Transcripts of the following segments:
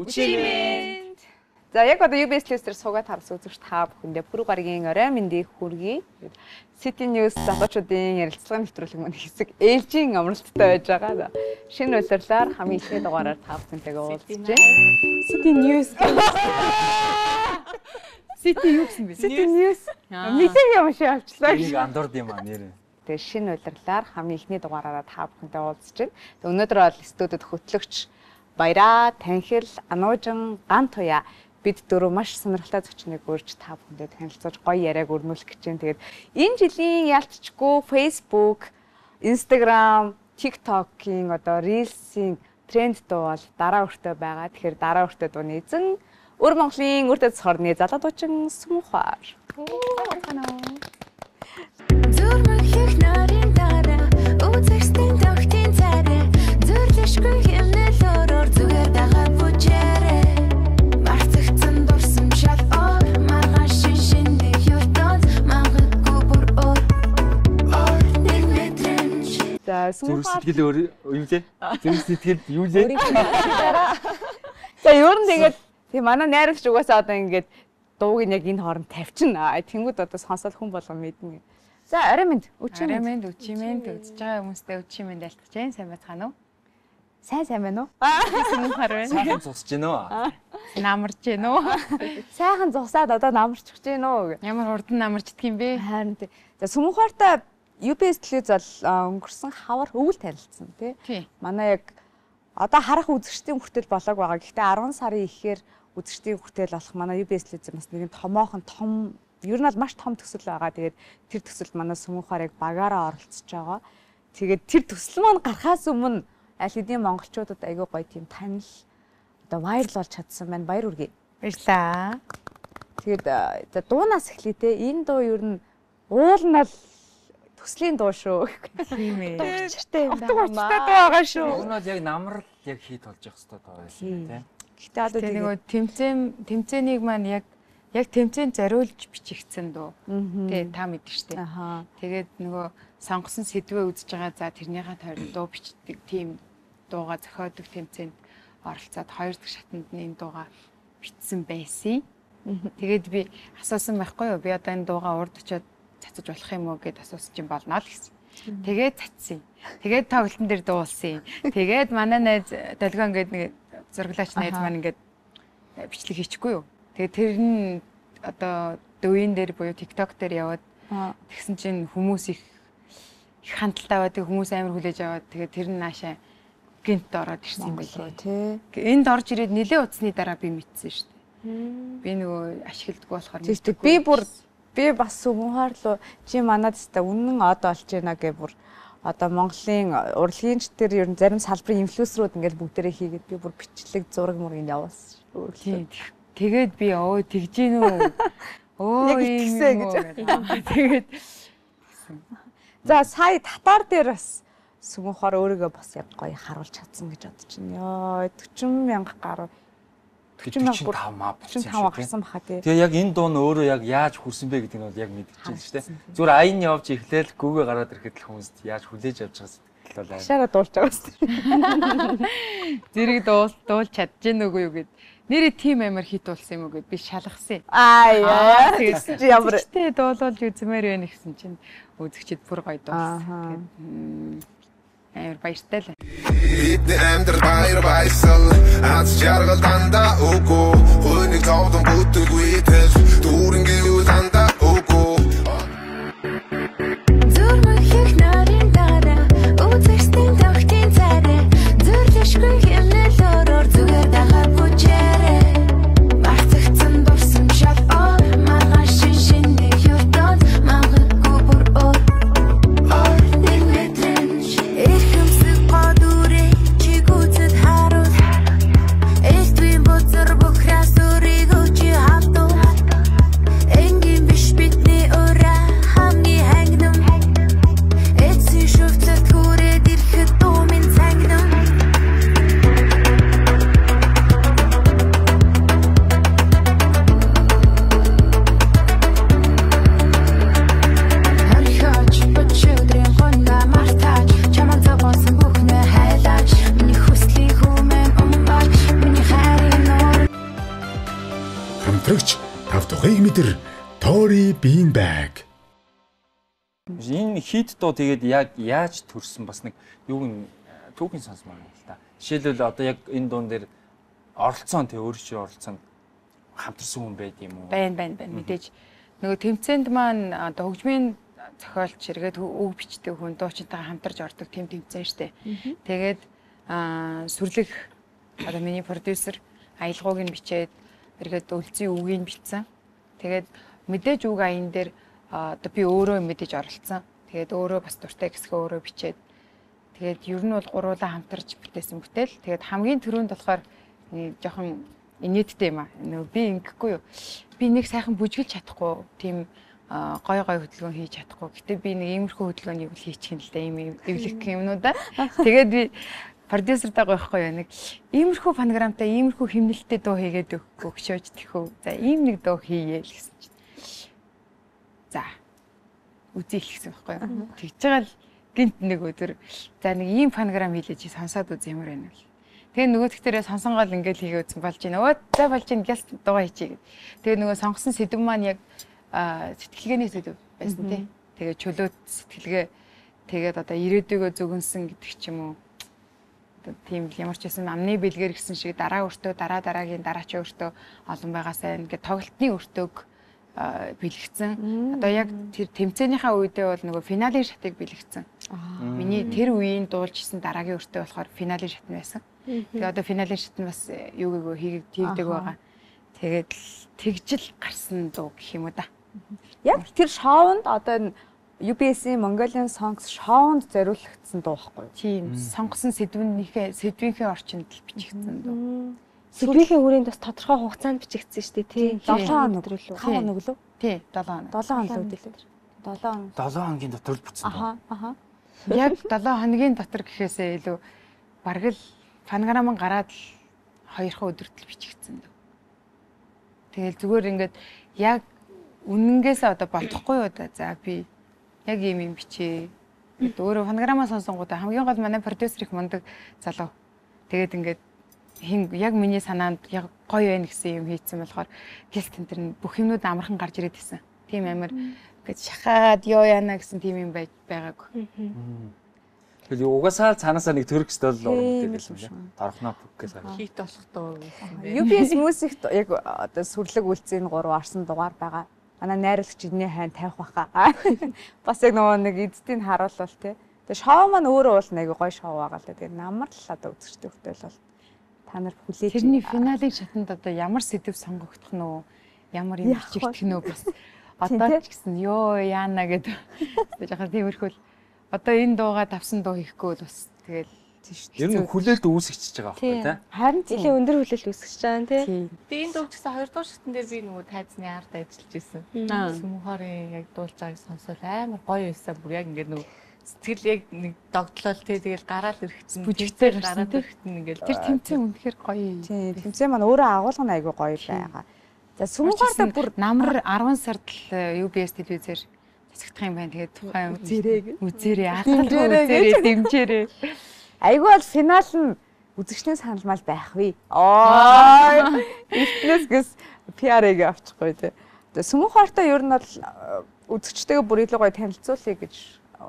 Учимент. За яг одоо UBS News-ээр суугаад харсан үзэгч та бүхэндээ пүрэв гарагийн орой мэндийг хүргэе. City News залуучуудын ярилцлагын нэвтрүүлэг мөн хэсэг ээлжийн амралттай байж байгаа. Шинэ улирлаар хамгийн ихний дугаараар та бүхэнтэйгээ уулзж байна. City News. City юу гэсэн бэ? City News. Мэдээ юм шиг авчлаа. Энийг андуурд юм аа нэр. Тэгээ шинэ улирлаар хамгийн ихний дугаараараа та бүхэнтэй уулзж байна. Өнөөдөр бол студид хөтлөгч Баяраа, Танхил, Ануужин, Ган Туя бид дөрөв маш сонирхолтой зочныг урьж та бүхэндээ танилцуулж гоё яриаг өрнүүлэх гэж байна. Тэгээд энэ жилийн ялцчгүй Facebook, Instagram, TikTok-ийн одоо Reels-ийн тренд дуу бол дараа өртөө байгаа. Тэгэхээр дараа өртөө дууны эзэн Өр Монголын үрдэд цорны залуу дуучин Сүмхвар. Зүрмэг хийх нарийн дараа үзэгсдэн тогтын царай зүрлэшгүй хэмнэл өрөөр зүгээр дагаа бүжээрээ марцагцсан дурсан шал ор маргааш шинэ хөвтөн мангадгүй бүр ор нэг мэдрэмж. За Зүрх сэтгэл юу лээ? Зүрх сэтгэл юу лээ? За ер нь тэгээд тийм манай найрагч угаасаа одоо ингээд дууг нь яг энэ хооронд тавьчихна. Тэнгүүд одоо сонсоод хүн болгон мэднэ. За арай мэд Учимент үзэж байгаа хүмүүстээ Учимент альтгаж байна. Сайн байцгаана уу? сайн байна уу? Сүмхвар байна. Сайхан цусж гин үү? Намарч байна уу? Сайхан зусаад одоо намарчих гэж байна уу? Ямар хурдан намарчдаг юм бэ? Харин тий. За Сүмхвартай UBS телевиз бол өнгөрсөн хавар өвөл танилцсан тий. Манай яг одоо харах үзэгчдийн хүртэл болоог байгаа. Гэхдээ 10 сарын ихээр үзэгчдийн хүртэл болох манай UBS телевиз бас нэгэн томоохон том ер нь бол маш том төсөл байгаа. Тэгээд тэр төсөлд манай Сүмхварыг багаараа оролцож байгаа. Тэгээд тэр төсөл маань гарахаас өмнө аль хэдийн монголчуудад айгүй гоё тийм танил одоо вайрал болж чадсан байна. Баяр хүргэе. Баярлаа. Тэгээд дуунаас эхлэе те. Энэ дуу ер нь уулнал төслийн дуу шүү. Тийм ээ. Дурчтай юм байгаа шүү. Энэ бол яг намрал яг хийд болж явах хэрэгтэй доо байсан тийм. Гэхдээ одоо нөгөө тэмцээнийг маань яг тэмцээнд зориулж бичигдсэн дуу. Тэ та мэдэн штэ. Тэгээд нөгөө сонгосон сэдвээ үзэж байгаа за тэрнийхээ тойрон дуу бичдэг тийм дууга зохиодог тэмцээнд оролцоод 2 дахь шатанд энэ дууга бичсэн байсан. Тэгээд би асуусан байхгүй юу? Би одоо энэ дууга урд очиод цацаж болох юм уу гэд асуусан чинь болно л гэсэн. Тэгээд цацсан. Тэгээд тоглолтын дээр дуулсан. Тэгээд манай найз Долгион гээд нэг зураглаач найз маань ингээд бичлэг хийчихгүй юу? Тэгээд тэр нь одоо дөвийн дээр буюу TikTok дээр яваад тэгсэн чинь хүмүүс их хандлтаа аваад хүмүүс амар хүлээж аваад тэгээд тэр нь наашаа гинт ороод ирсэн юм байна тий. Энд орж ирээд нэлээ утасны дараа би мэдсэн шүү дээ. Би нөгөө ашигладаг болохоор би бас Сүмхвар руу чи манад тест үнэн од олж байна гэ бүр одоо Монголын урлагийнч тэр ер нь зарим салбарын инфлюенсерүүд ингээд бүгдээрээ хийгээд би бүр бичлэг зураг мургийг явуулсан шүү. Тэгээд би тэгж гин үү? Яг итгэсэй гэж. Тэгээд за сая татар дээр бас Сүмхвар өөрийгөө бас яг гоё харуулж чадсан гэж бодож байна. Ёо 40,000 гаруй 45 маа болсон шүү. гарсан баха тий. Тэгээ яг энэ дуу нь өөрөө яг яаж хүрсэн бэ гэдэг нь бол яг мэдчихэж байна шүү дээ. Зүгээр аян явж эхлээл гүүгээ гараад ирэхэд л хүмүүст яаж хүлээж авч байгаа сэтгэл бол Шаараа дуулж байгаа шүү. Зэрэг дуулж чадчихэв нүгөө юу гэд. Нэрээ тим амар хит болсон юм уу гэд би шалгасан. Тэгсэн чи ямар тэ дуулуулж үзмээр байна гэсэн чинь үзэгчд бүр гоё дууссан. Тэгээд амар баяртай л. Бидний амьдрал баяр баясгал аз жаргал дандаа үгүй хөөний тавдан бүтэггүй тэл дүүрэн гэвэл дандаа үгүй Зүрмэг хийх нарийн дараа үзэгсдэн тогтын царай зүрлэшгүй хэмнэл өрөөр зүгээр дагаа бүжээрээ марцагцсан дурсан шал ор маргааш шинэ хөвтөн мангадгүй бүр ор нэг мэдрэмж эрхэмсэг годүрээ чигүүцэд харуул элтвийн бузар бухрас өрийгөө чи хатуу Сидр Тори Beanbag. Энэ хит доо тэгээд яг яаж төрсөн бас нэг юуг түүхийн сонсмаар байна л та. Жишээлбэл одоо яг энэ дуун дээр оролцоон тий өөрөөр оролцоон хамтарсан хүн байд юм уу? Байна мэдээж. Нөгөө тэмцээнд маань одоо хөгжмийн зохиолч эргээд үг бичдэг хүн дуучинтайгаа хамтарч ордог тэм тэмцээн штэ. Тэгээд сүрлэг одоо миний продюсер аялгауг нь бичээд эргээд өлзий үгийг бичсэн. Тэгээд мэдээж үг аян дээр одоо би өөрөө мэдээж оролцсон. Тэгээд өөрөө бас дуртай хэсгээ өөрөө бичээд тэгээд ер нь бол гуруулаа хамтарч бүтээсэн бүтээл. Тэгээд хамгийн түрүүнд болохоор жоохон инээдтэй юм аа. Нөгөө би ингэхгүй юу. Би нэг сайхан бүжгэлж чадахгүй. Тийм гой хөдөлгөөн хийж чадахгүй. Гэтэ би нэг иймэрхүү хөдөлгөөнийг бол хийчих юм л да. Ийм эвлэх юмнуудаа. Тэгээд би продюсертайгаа байхгүй юу. Нэг иймэрхүү фонограмтай иймэрхүү химнэлттэй дуу хийгээд өгшөөж тэхүү. За ийм нэг дуу хийе л гэсэн чинь. За. Үзье л гэсэн байхгүй юу. Тэгж байгаа л гинт нэг өдөр за нэг ийм фонограм хийлээ чи сонсоод үз ямар байна вэ? Тэгээ нөгөө тэгтэрээ сонсонгол ингээл хийгээ үзсэн болж байна. Өө за болж ин гяст дуугаа хийчихье. Тэгээ нөгөө сонгосон сэдв маань яг сэтгэлгээний сэдв байсан тий. Тэгээ чөлөөт сэтгэлгээ тэгээд одоо ирээдүгөө зөвгөнсөн гэдэг ч юм уу. Тийм ямар ч байсан амны бэлгэр гэсэн шиг дараа өртөө дараагийн дараачийн өртөө олон байгаасаа ингээд тоглолтны өртөөг бэлэгцэн. Одоо яг тэр тэмцээнийхээ үедээ бол нөгөө финалийн шатыг бэлэгцэн. Миний тэр үеийн дуулжсэн дараагийн өртөө болохоор финалийн шат нь байсан. Тэгээ одоо финалийн шат нь бас юу хийгдэг байгаа. Тэгээд тэгжил гарсан дуу гэх юм уу да. Яг тэр шоунд одоо UBS-ийн Mongolian Songs шоунд зориулагдсан дуу байхгүй юу? Тийм. Сонгосон сэдвийнхээ орчинд л бичигдсэн дуу. Сэдвийнхээ хүрээнд бас тодорхой хугацаанд бичигдсэн шүү дээ тий. 7 хоног лөө 5 хоног лөө? Тий, 7 хоног. 7 хоног лөө дээ. 7 хоног. 7 хоногийн дотор л бүтсэн доо. Яг 7 хоногийн дотор гэхээсээ илүү бараг л фонограм гараад л 2 өдөрт л бичигдсэн дөө. Тэгэл зүгээр ингээд яг үнэнгээсээ одоо бодохгүй юу да. За би яг юм бичээ. Гэт өөрөө фонограмаа сонсонгуудаа хамгийн гол манай продюсер их мундаг залуу. Тэгээд ингээд яг миний санаанд яг гоё байна гэсэн юм хийцэн болохоор гэл тентэр нь бүх юмнууд амархан гарч ирээд исэн. Тийм амар гэж шахаад ёо яана гэсэн тийм юм байгаагүй. Тэгэхээр угаасаа цаанаасаа нэг төрөх стол уран мэдээлэл юм. Дарахнаа бүк гэж гаргав. Хит болох дуу. UBS Music яг одоо сүрлэг үйлцийн 3 арсан дугаар байгаа. Манай найруулагч эдний хайн тавих баха. Бас яг нөгөө нэг эддийг харуулвал тий. Тэгээ шоу маань өөрөө бол нэг гоё шоу байгаа л да. Тэгээ намар л одоо үзэгчтэй хөтөл бол та нар хүлээж. Тэрний финалийн шатанд одоо ямар сэдв сонгогдох нь вэ? Ямар юм бичигдэх нь вэ? Бас одоо ч гэсэн ёо яана гэдэг. Жахаа тиймэрхүү л одоо энэ дуугаа давсан дуу хийхгүй бол бас тэгэл ер нь хүлээлт үүсгэж байгаа байхгүй тий. Харин жилийн өндөр хүлээлт үүсгэж байгаа тий. Би энэ дууг гэсэн 2 дугаар шатн дээр би нөгөө тайзны ард ажиллаж байсан. Сүмхорын яг дуулж байгааг сонсоод амар гоё байсан. Бүр яг ингээд нөгөө сэтгэл яг нэг догтлол тий тэгэл гараал ирэхсэн бүжигтэй гараад ирэхсэн ингээл тэр тэмцээн үнэхээр гоё. Тий, тэмцээн маань өөрөө агуулгын айгүй гоё байгаа. За сүмхортой бүр намар 10 сард л UBS телевизээр засагдах юм байна. Тэгээд тухайн үзээрээ атгалгүй дэмжээрээ. Айгүй бол финал нь үзэгчний санал мал байх вэ. Оо. Фитнес гэс PR-ыг авчихгүй тий. Тэгээ сүмхортой ер нь бол үзэгчтэйгээ бүр илүү гоё танилцуулъя гэж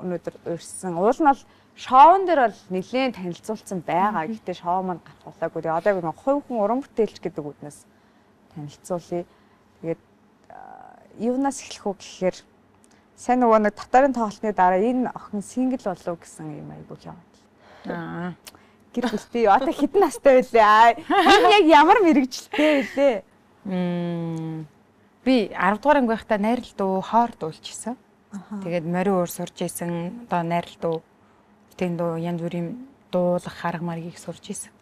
өнөөдөр урьдсан. Уул нь бол шоун дээр бол нэлээд танилцуулсан байгаа. Гэхдээ шоу маань гарахлаагүй. Тэгээ одоо яг нэг хувь хүн уран бүтээлч гэдэг үгнээс танилцуулъя. Тэгээд юунаас эхлэх вэ гэхээр сайн нөгөө нэг татарын тоглолтны дараа энэ охин сингл болов гэсэн юм айгүй юм. Гэр бүлтэй одоо хэдэн настай байлээ? Энэ яг ямар мэрэгчлээ вэ? Би 10 дугаар анги байхдаа найрал дуу хоор дуулчихсан. Тэгээд мориун уур сурж исэн. Одоо найрал дуу, бүтэн дуу, янз бүрийн дуулах арга маргийг сурж исэн.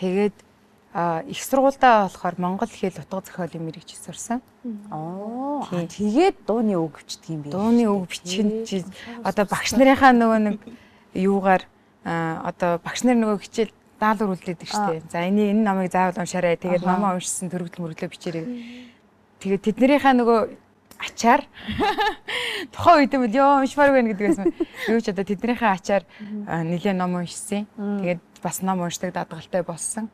Тэгээд их сургуультай болохоор монгол хэл утга зохиолын мэрэгч сурсан. Тэгээд дууны үг бичдэг юм бэ? Дууны үг бичин чи одоо багш нарынхаа нөгөө нэг юугаар одоо багш нар нөгөө хичээл даалгавар үлдээдэг штеп. За энэ номыг заавал уншаарай. Тэгээд номоо уншсан төрөгдөл мөрөглөө бичээрэй. Тэгээд тэднэрийнхаа нөгөө ачаар тухайн үед юм ёо уншмаар байна гэдгээс юу ч одоо тэднэрийнхээ ачаар нэлээд ном уншсан. Тэгээд бас ном уншдаг дадгалтай болсон.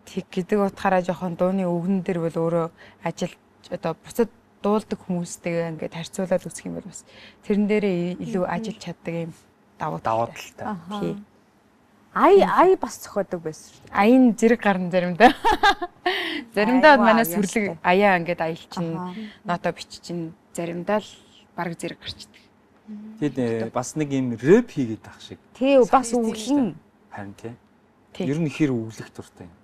Тэг гэдэг утгаараа жоохон дууны үгэн дээр бол өөрөө ажил одоо буцад дуулдаг хүмүүстэйгээ ингээд харьцуулаад үзэх юм бол бас тэрэн дээрээ илүү ажиллаж чаддаг юм давуу талтай. Тий. Ай бас зохиодог байсан шүү дээ. Аян зэрэг гарна заримдаа. Заримдаа манай сүрлэг аяа ингээд аялал чинь ноото бичиж чинь заримдаа л бараг зэрэг гарчдаг. Тэгэд бас нэг юм рэп хийгээд ах шиг. Тий, бас өглөн. Харин тий. Ер нь ихэр өглөх дуртай юм.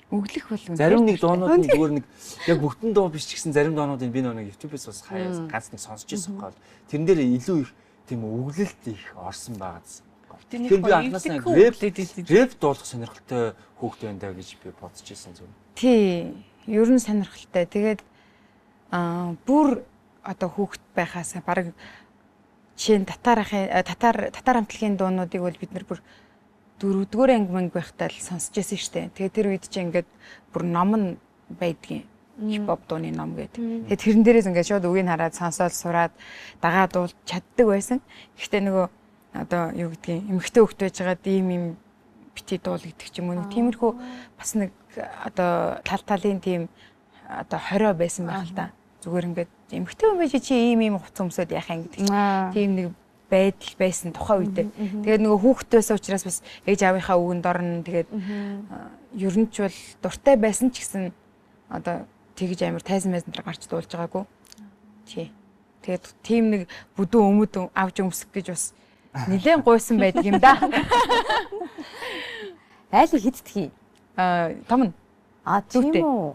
Өглөх бол зарим нэг доонууд нь зүгээр нэг яг бүтэн дуу биш ч гэсэн зарим доонуудыг би нэг YouTube-ээс бас ганц нэг сонсч ирсэн гол. Тэрэн дээр илүү их тийм өглөлт их орсон байгаадсан. Тэгэхээр би анхнаасаа рэп дуулах сонирхолтой хүүхэд байна даа гэж би бодож ирсэн зөв. Тий. Ер нь сонирхолтой. Тэгээд бүр одоо хүүхэд байхаасаа баг жишээ нь татар хамтлагийн дуунуудыг бол бид нар бүр 4-р анги байхдаа л сонсч байсан шүү дээ. Тэгээд тэр үед чинь ингээд бүр ном нь байдгийн хипхоп дууны ном гэдэг. Тэгээд тэрэн дээрээс ингээд шууд үгийг хараад сонсоод сураад дагаад дуул чаддаг байсан. Гэхдээ нөгөө одоо юу гэдгийг эмхтэй хөвгт байж байгаад ийм бити дуул гэдэг ч юм уу. Тиймэрхүү бас нэг одоо талын тийм одоо хорио байсан байх л та. Зүгээр ингээд эмхтэй хүн байж чи ийм хувц өмсөд яах юм гэдэг. Тийм нэг байдал байсан тухайн үедээ. Тэгээд нөгөө хүүхдээс учраас бас ээж аавынхаа үгэнд орно. Тэгээд ер нь ч бол дуртай байсан ч гэсэн одоо тэгж амар тайзан дээр гарч дуулж байгаагүй. Тий. Тэгээд тийм нэг бүдүүн өмд авч өмсөх гэж бас нэлээд гуйсан байдаг юм да. Айлын хиддгий. Том нь. Тийм үү.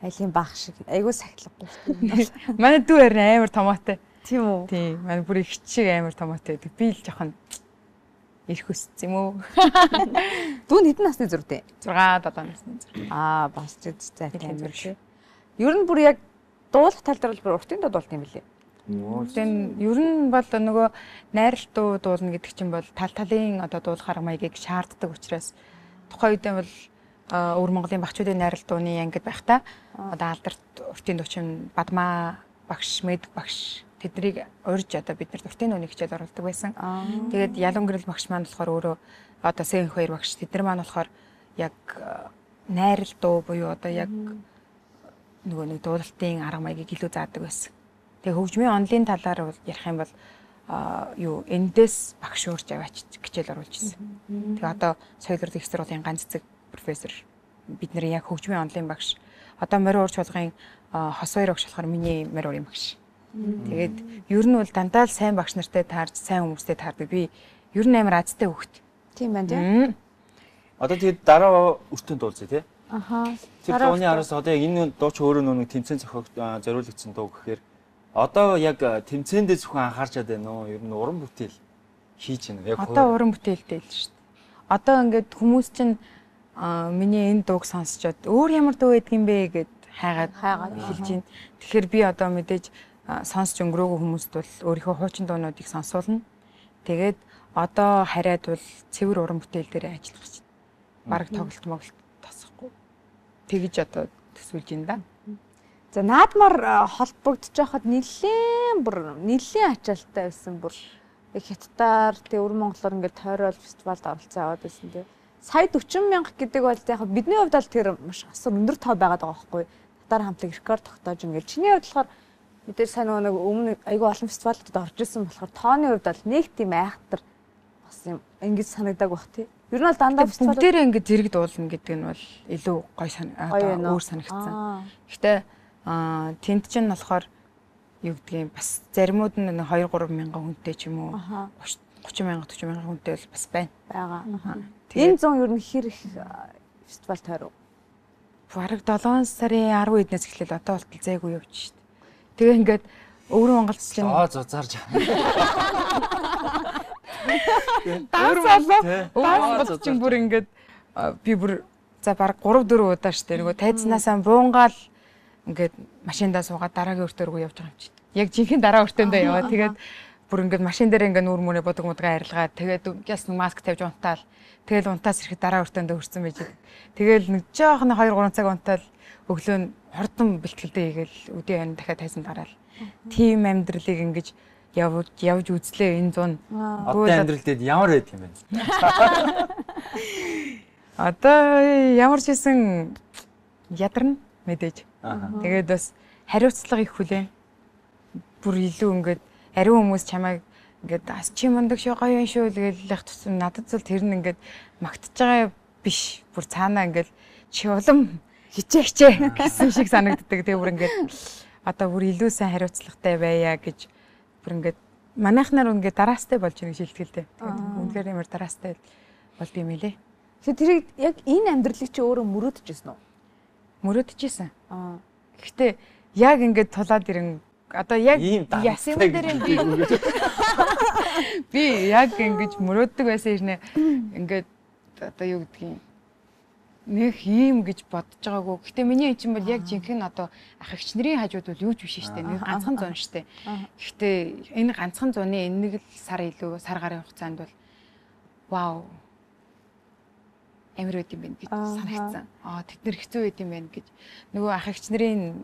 Айлын баах шиг. Айгуу сахилгагүй. Манай дүү харин амар томоотой. Тийм үү? Тийм. Манай бүр их чиг амар томоотой. Би л жоохон ирэх хүссэн юм уу? Дүүн хэдэн насны зурдээ? 6-7 насны зур. Бас ч зай тийм шүү. Ер нь бүр яг дуулах тал дээр бол уртын дуу дуулт юм билээ. Тэгвэл ер нь бол нөгөө найралтуу дуулна гэдэг чинь бол талын одоо дуулах арга маягийг шаарддаг учраас тухайн үедээ бол өвөр Монголын багчуудын найралтууны ангид байхдаа одоо алдарт уртын дуучин Бадмаа багш, Мэд багш тэднийг урьж одоо бид нар уртын дууны хичээл оруулдаг байсан. Тэгээд Ялан гэрэл багш маань болохоор өөрөө одоо Сэнх хоёр багш тэд нар маань болохоор яг найралтуу буюу одоо яг нөгөө нэг дуулалтын арга маягийг илүү заадаг байсан. Тэгээ хөгжмийн онлын талаар ярих юм бол юу эндээс багш уурж аваач хичээл оруулж ирсэн. Тэгээ одоо соёл урлагийн их сургуулийн ганц цэцэг профессор бид нарын яг хөгжмийн онлын багш. Одоо морин уурч болгын хос хоёр багш болохоор миний морин багш. Тэгээд ер нь бол дандаа л сайн багш нартай таарч сайн хүмүүстэй таардаг. Би ер нь амар азтай хөвгт. Тийм байна тийм. Одоо тэгээд дараа өртөнд дуулзъя тий. Тэр дууны араас одоо яг энэ дууч өөрөө нэг тэмцээн зориулагдсан дуу гэхээр одоо яг тэмцээндээ зөвхөн анхаарчаад байна уу? Ер нь уран бүтээл хийж байна. Яг одоо уран бүтээлтэй л шүү дээ. Одоо ингээд хүмүүс чинь миний энэ дууг сонсчоод өөр ямар дуу байдаг юм бэ гэд хайгаад эхэлж байна. Тэгэхээр би одоо мэдээж сонсч өнгөрөөгөө хүмүүст бол өөрийнхөө хуучин дуунуудыг сонсуулна. Тэгээд одоо хараад бол цэвэр уран бүтээл дээр ажиллах гэж бараг тоглолт моголт тасахгүй. Тэгж одоо төсвөлж байна да. За наадмаар холбогдож байхад нэлийн ачаалттай байсан бүр яг хятадаар тэг өвөр монголоор ингээд тойрол фестивалд оролцсон аваад байсан тий. Сая 40,000 гэдэг бол яг бидний хувьд л тэр маш асар өндөр тоо байгаад байгаа байхгүй. Татар хамтлаг рекорд тогтоож ингээд чиний хувьд болохоор мэдээж сайн нэг өмнө айгүй олон фестивалд орж ирсэн болохоор тооны хувьд бол нэг тийм айхтар бас юм ингэж санагдаг бах тий. Ер нь бол дандаа фестивал дээр ингээд зэрэг дуулна гэдэг нь бол илүү гой өөр санагдсан. Гэхдээ тэнд чинь болохоор юу гэдгийг бас заримуд нь 2-3 мянган хүнтэй ч юм уу 30,000 40,000 хүнтэй бол бас байна. Энэ 100 ер нь хэр их фестивал тойров? Бараг 7 сарын 10 эднээс эхлээл одоо болтол зайгүй явж шít. Тэгээ ингээд өвөр Монголд чинь зузаарж Монголд чинь бүр ингээд би бүр за бараг 3-4 удаа штэ нөгөө тайзнасаа буунгаал ингээд машиндаа суугаад дараагийн өртөөргөө явж байгаа юм чи. Яг жинхэнэ дараа өртөөндөө яваа. Тэгээд бүр ингээд машин дээр ингээд нүүр мөрөө бодог мудгаа арилгаад тэгээд яс нэг маск тавьж унтаал. Тэгэл унтаас ирэхэд дараа өртөөндөө хүрсэн байж. Тэгэл нэг жоохон 2-3 цаг унтаал өглөө нь хордон бэлтгэлдээ хийгээл өдөө яна дахиад тайзан дараал. Тим амьдралыг ингэж явж үзлээ энэ 100. Одоо амьдрал дээр ямар байд юм бэ? Одоо ямар ч хэсэн ядарна мэдээж. Тэгээд бас хариуцлага их хүлээн. Бүр илүү ингээд ариун хүмүүс чамайг ингээд ас чи мундаг шүү гоё юм шүү гэлэх тусам надад зөв тэр нь ингээд магтж байгаа биш. Бүр цаанаа ингээд чи улам хичээгчээ гэсэн шиг санагддаг. Тэгээ бүр ингээд одоо бүр илүү сайн хариуцлагатай байя гэж бүр ингээд манайхнаар ингээд дараастай болж байгаа шилтгэлтэй. Тэгээд үнэхээр ямар дараастай болд юм хэлээ. Тэгэхээр тэрийг яг энэ амьдралыг чи өөрөө мөрөөдөж ирсэн үү? Мөрөөдөж ирсэн. Гэхдээ яг ингээд тулаад ирэн одоо яг ясын дээр би яг ингэж мөрөөддөг байсан юм ингээд одоо юу гэдгийг нэг юм гэж бодож байгаагүй. Гэтэ миний чинь бол яг жинхэнэ одоо ах эгч нарын хажууд бол юу ч биш шүү дээ. Нэг ганцхан зун шүү дээ. Гэтэ энэ ганцхан зуны энэ нэг л сар илүү сар гарын хугацаанд бол вау амир байд юм байна гэж санагдсан. Тэд нэр хэцүү байд юм байна гэж нөгөө ах эгч нарын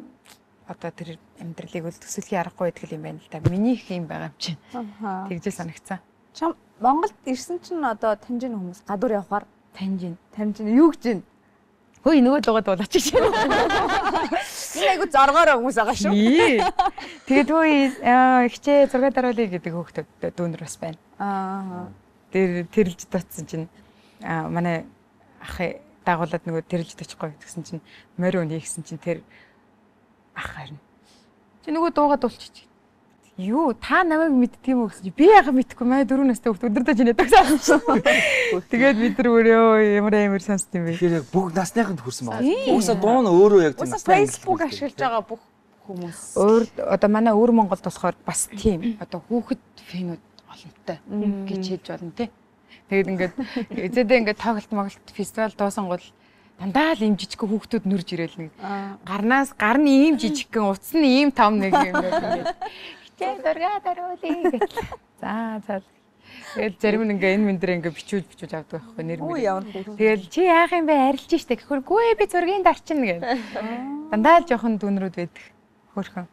одоо тэр амьдралыг бол төсөөлхийн аргагүй байдаг юм байна л да. Минийх юм байгаа юм чинь. Тэгжээ санагцсан. Чам Монголд ирсэн чинь одоо таньжин хүмүүс гадуур явахаар таньжин юу гэж байна? Хөөе нөгөө дугаад болооч гэж. Энэ айгу зоргоор хүмүүс байгаа шүү. Тэгээд хөөе хичээ зураг даруулъя гэдэг хөөхтөд дүүнэр бас байна. Тэрэлж дутсан чинь манай ах дагуулад нөгөө тэрэлж дучихгүй гэсэн чинь морь өн хийгсэн чинь тэр ах харин. Чи нөгөө дуугаад уулчих. Юу та намайг мэдтгийм үү гэсэн чи би яга мэдхгүй маа 4 настай хүүхд өдөртөө чиний тагсаасан. Тэгээд бид нар өөрөө ямар сонсд юм бэ. Тэгэхээр яг бүх насныханд хүрсэн байгаа. Уусаа дуун өөрөө яг тийм настай. Facebook ашиглаж байгаа бүх хүмүүс. Одоо манай өвөр Монголд болохоор бас тийм одоо хүүхэд фэнүүд олонтой гэж хэлж болно тий. Тэгээд ингээд эзэдээ ингээд тоглолт моголт фестивал дуусангууд дандаа л ийм жижиг хүүхдүүд нүрж ирээл нэг гар нь ийм жижигхэн утас нь ийм том нэг юм ингээд хичээ зураг даруулъя гэж. За тэгэл зарим нь ингээ энэ мен дээр ингээ бичүүлж авдаг байхгүй нэр мэр. Тэгэл чи яах юм бэ арилж штэ гэхээр гүй би зургийн дарчин гэж. Дандаа л жоохон дүнрүүд байдаг. Хөөрхөн.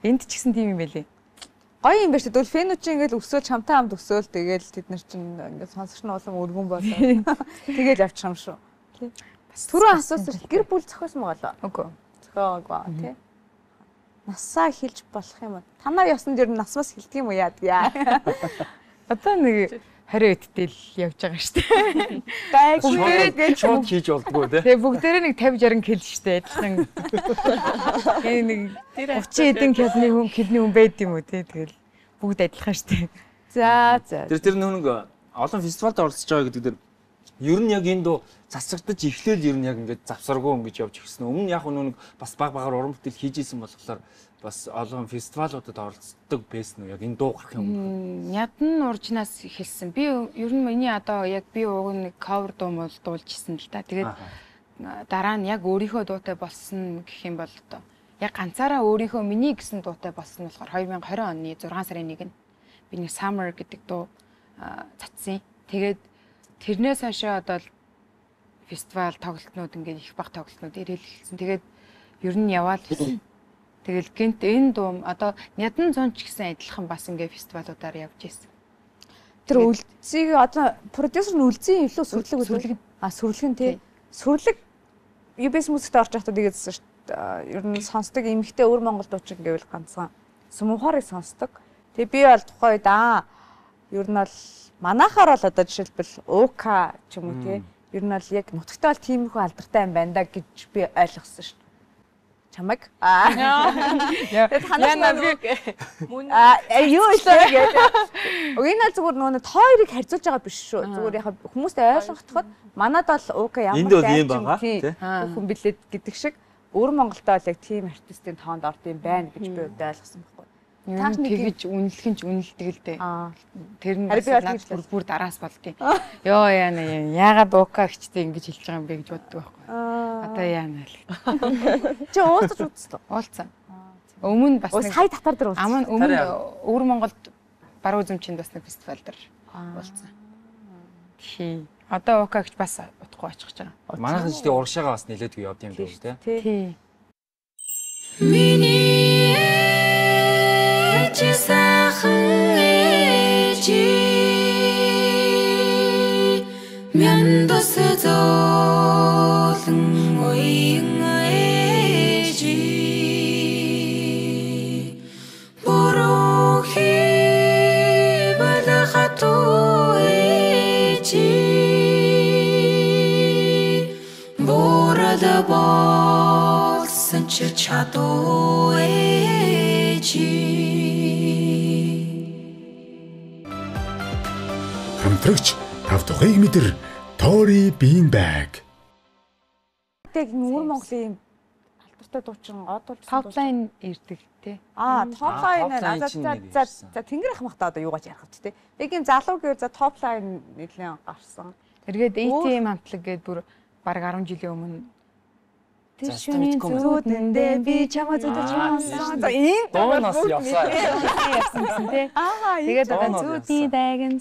Энд ч гэсэн тийм юм байлээ. Гоё юм байна шүү. Тэгвэл фэнүүд чинь ингээл өсөөл чамтай хамт өсөөл тэгэл тэд нар чинь ингээ сонсогч нь улам өргөн болоо. Тэгэл явчих юм шүү. Түрүү асуусан гэр бүл зохиосон байгаа лөө. Үгүй. Зохиогоо тий. Насаа хэлж болох юм уу? Танаа явсанд ер нь насмаас хэлдэг юм уу яа? Одоо нэг 20 эдтэй л явж байгаа шүү дээ. Бүгдээрээ шууд хийж болдгоо тий. Тэгээ бүгдээрээ нэг 50 60 кил шүү дээ. Адилхан. Нэг 30 эдэн килний хүн байд юм уу тий. Тэгэл бүгд адилхан шүү дээ. За. Тэр нэг олон фестивалд оролцож байгаа гэдэг дээр ер нь яг энэ дуу засагдаж эхлээл ер нь яг ингээд завсаргүй ингэж явж ирсэн. Өмнө яг нэг бас багаар уран бүтээл хийж исэн болохоор бас олон фестивалуудад оролцдог байсан уу яг энэ дуу гарах юм. Ядн уржнаас эхэлсэн. Би ер нь миний одоо яг би уг нэг cover дуу мол дуулжсэн л да. Тэгээд дараа нь яг өөрийнхөө дуутай болсон гэх юм бол одоо яг ганцаараа өөрийнхөө миний гэсэн дуутай болсон болохоор 2020 оны 6 сарын 1-нд би нэг Summer гэдэг дуу цацсан. Тэгээд тэрнээс хойшоо одоо фестивал тоглолтнууд ингээд их баг тоглолтнууд ирээл эхэлсэн. Тэгээд ер нь яваал байсан. Тэгэл гинт энэ дуу одоо Ядан зун ч гэсэн адилхан бас ингээд фестивалуудаар явж ирсэн. Тэр үлцгийг одоо продюсер нь үлцийн илүү сүрлэг сүрлэг нь тий. Сүрлэг UBS музикт орж байхдаа тэгээдсэн шүү дээ. Ер нь сонсдог эмэгтэй өвөр Монгол дуучин гэвэл ганцхан Сүмхорыг сонсдог. Тэгээ би бол тухайн үед ер нь бол манайхаар бол одоо жишээлбэл уука ч юм уу тий. Ер нь бол яг нутагтаа бол тиймэрхүү алдартай юм байна да гэж би ойлгосон шүү дээ. Чамайг танаас мөн юу илээ гэдэг. Энэ бол зүгээр нөгөө тойрыг харьцуулж байгаа биш шүү. Зүгээр яг хүмүүст ойлгоход манад бол уука ямар тийм хүн билээд гэдэг шиг өвөр Монголдоо л яг тийм артистийн тоонд орд юм байна гэж би ойлгосон байхгүй. Тааш тэгэж үнэлэх нь ч үнэлдэг л дээ. Тэр нь надад бүр дараас болдیں۔ Йоо яагаад уука гिचтэй ингэж хэлж байгаа юм бэ гэж боддог байхгүй. Одоо яана л. Чи уулзаж үзсэн үү? Уулзсан. Өмнө бас нэг сая татар дээр уулзсан. Өмнө өвөр Монголд баруун үзэмчинд бас нэг фестивал дээр уулзсан. Тий. Одоо уука гэж бас утгагүй очих гэж байгаа. Манайхан ч тий урагшаага бас нэлээдгүй явд юм байна тий. Тий. Миний 지사흥 애지 면도스 조릉 오잉 애지 болсон ч чадууэ чи Хамтрагч тав тухыг мэдэр Тори Beanbag. Тэг нүүр Монголын алдартай дуучин одуулсан Top line ирдэг тий. Top line за тэнгэр ах махта одоо юугаач ярих вэ те. Нэг юм залуу гэвэл за top line нэлээд гарсан. Тэргээд ATM хамтлаг гээд бүр баг 10 жилийн өмнө тэр шөнийн зүудэндээ би чамаа зүдэж сонсон. За энэ дуунаас явсаа. явсан гэсэн тий. Тэгээд одоо зүудний дайган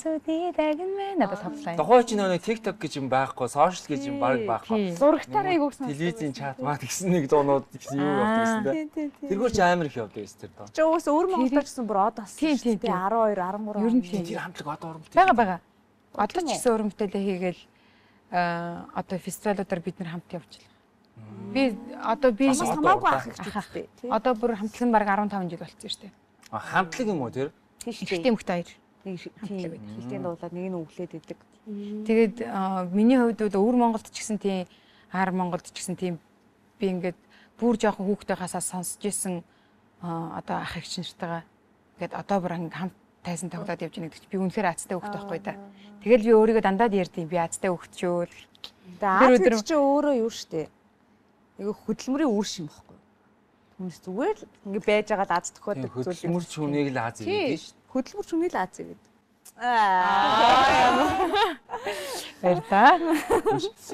мэн надад тоглосон. Тухайн чинь нэг TikTok гэж юм байхгүй, social гэж юм баг байхгүй. Зурагтаараа айгууг сонсон. Телевизийн чат маа гэсэн нэг дуунууд гэсэн юу явдаг гэсэн тий. Тэргүүр чи амар их явдаг гэсэн тэр доо. Чи өөс өөр Монголд гэсэн бүр од болсон. Тийм. 12, 13. Ер нь Тэр хамтлаг одоо урамтай. байгаа. Одоо ч гэсэн өрөмтөлөө хийгээл одоо фестивалуудаар бид нар хамт явчихлаа. Би хамаагүй ах гэж хэлдэг тий. одоо бүр хамтлаг нь баг 15 жил болсон шүү дээ. Хамтлаг юм уу тэр? Ихтэй мөхтэй хоёр. Тийм. Хилтийн дуулаад нэг нь өглөөд идэг. Тэгээд миний хувьд бол өвөр Монголд ч гэсэн тийм, хар Монголд ч гэсэн тийм би ингээд бүр жоохон хүүхдтэйгээс сонсож исэн одоо ах эгч нартайгаа ингээд одоо бүр хамт тайсан тоглоод явж байгаа гэдэг чи би үнэхээр азтай хүүхдтэй байхгүй да. Тэгэл би өөрийгөө дандаа ярьдیں۔ Би азтай хүүхдчүүл. Тэгээд чи өөрөө юу штэ. Нэг хөдөлмөрийн үр шим байхгүй. Хүмүүс зүгээр л ингэ байж байгаа л аз төхөөдөг зүйл. Хөдөлмөрч хүнийг л аз гэдэг шүү дээ. Хөдөлмөрч хүнийг л аз гэдэг. Баярлаа.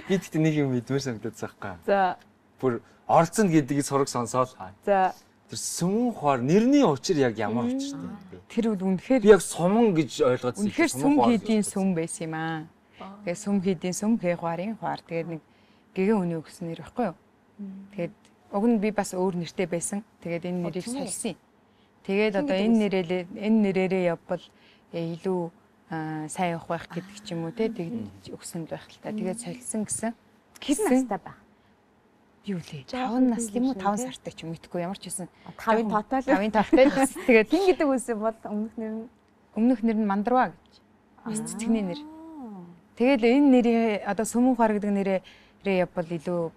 Би тэгтээ нэг юм мэдмээр санагдаад байгаа. За. Бүр орцсон гэдгийг сураг сонсоод. За. Тэр сүмэн хоор нэрний учир яг ямар учиртай вэ? Тэр бол үнэхээр би яг суман гэж ойлгоодсэн. Үнэхээр сүм хийдийн сүм байсан юм аа. Тэгээ сүм хийдийн сүм гэхварын хвар тэгээд нэг гэгээ үний өгсөн нэр байхгүй юу? Тэгээд уг нь би бас өөр нэртэй байсан. Тэгээд энэ нэрийг сольсон. Тэгээд одоо энэ нэрээрээ явбал илүү сайн явах байх гэдэг ч юм уу те тэгж өгсөнд байх л та. Тэгээд сольсон гэсэн. Хэдэн настай ба? Би үлээ 5 нас юм уу 5 сартай ч юм мэдгүй ямар ч байсан 5-ын тоотой л 5-ын тоотой тэгээд хин гэдэг үс юм бол өмнөх нэр нь Мандарва гэж бас цэцэгний нэр. Тэгээд энэ нэрийн одоо сүмэн хар гэдэг нэрээ явбал илүү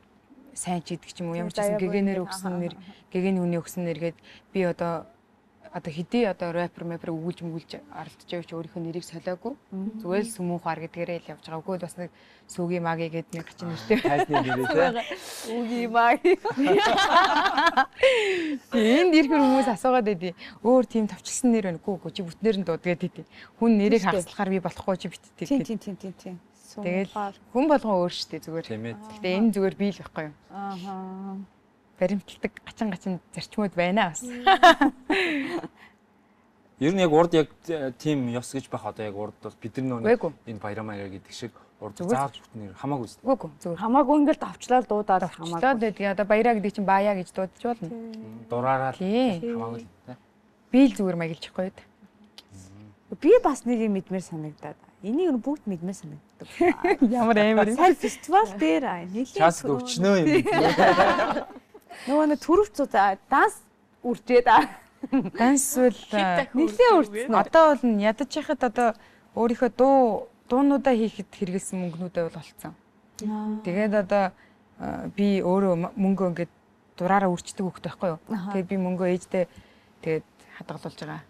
сайн ч гэдэг ч юм уу ямар ч байсан гэгээнээр өгсөн нэр гэгээний үний өгсөн нэр гээд би одоо хэдий одоо рэпер өгүүлж оролдож явж өөрийнхөө нэрийг солиогүй зүгээр л сүмэн хар гэдгээрээ л явж байгаа. Үгүй бас нэг сүги маги гэдэг нэг чинь нэртэй тайлбар нэрээ те. Үгүй маги. Энд ирэх хүмүүс асуугаад байдیں۔ Өөр тийм товчлсон нэр байна. Үгүй чи бүтнээр нь дуудгээд байдیں۔ Хүн нэрийг хагслахаар би болохгүй чи битдэг. Тийм. Тэгэл хүн болгон өөр штэ зүгээр. Гэтэ энэ зүгээр бий л байхгүй юу? Ааха. Баримталдаг гачин зарчмууд байна бас. Ер нь яг урд яг тийм ёс гэж байх одоо яг урд бол бидний нөө энэ баярамаа гэдэг шиг урд заавал бүтнээр хамаагүй шүү. Үгүй зүгээр. Хамаагүй ингээл давчлаад дуудаад хамаагүй. Тэгээд одоо баяраа гэдэг чинь баяа гэж дуудаж болно. Дураараа хамаагүй тий. Би л зүгээр маягилчихгүй. Би бас нэг юм мэдмээр санагдаад. Энийг бүгд мэдмээр санагддаг. Ямар амар юм. Сайн фестивал дээр нэлийн чаас өвчнөө юм. Нөгөө нэг төрөвч данс үржээд данс бол нэлийн үржсэн. Одоо бол ядаж яхад одоо өөрийнхөө дуунуудаа хийхэд хэрэгэлсэн мөнгнүүдээ бол олцсон. Тэгээд одоо би өөрөө мөнгөө ингээд дураараа үрчдэг хөхтэй байхгүй юу. Тэгээд би мөнгөө ээждээ тэгээд хадгалуулж байгаа.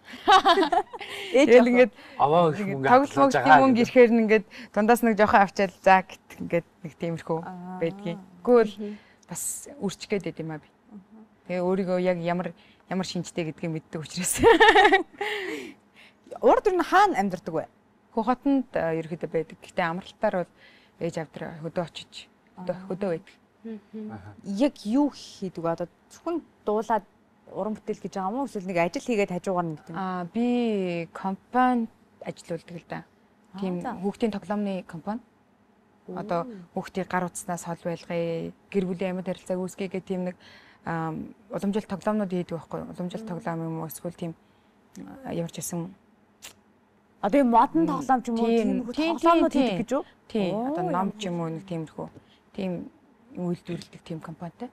Ээж ингээд аваа их мөнгө тоглож байгаа. Мөнгө ирэхээр ингээд дундаас нэг жоохон авчаал за гэт ингээд нэг тиймэрхүү байдгийн. Гүйл бас үрчгээд байд юм аа би. Тэгээ өөрийгөө яг ямар шинжтэй гэдгийг мэддэг учраас. Урд нь хаана амьдардаг вэ? Хотонд ерөөдөө байдаг. Гэтэ амралтаар бол ээж авдраа хөдөө очиж хөдөө байдаг. Яг юу хийдэг вэ? Одоо зөвхөн дуулаад уран бүтээл гэж байгаа юм уу? Эсвэл нэг ажил хийгээд хажуугаар нь гэдэг юм? Би компанид ажиллаулдаг л да. Тийм хүүхдийн тоглоомны компани. Одоо хүүхдийн гар утаснаас хол байлгая, гэр бүлийн амьд харилцааг үүсгэе гэх тийм нэг уламжлалт тоглоомнууд хийдэг байхгүй юу? Уламжлалт тоглоом юм уу? Эсвэл тийм ямар ч байсан одоо юм модон тоглоом ч юм уу тийм тоглоомнууд хийдэг гэж үү? Тийм. Одоо ном ч юм уу нэг тиймэрхүү. Тийм үйлдвэрлэдэг тийм компанитай.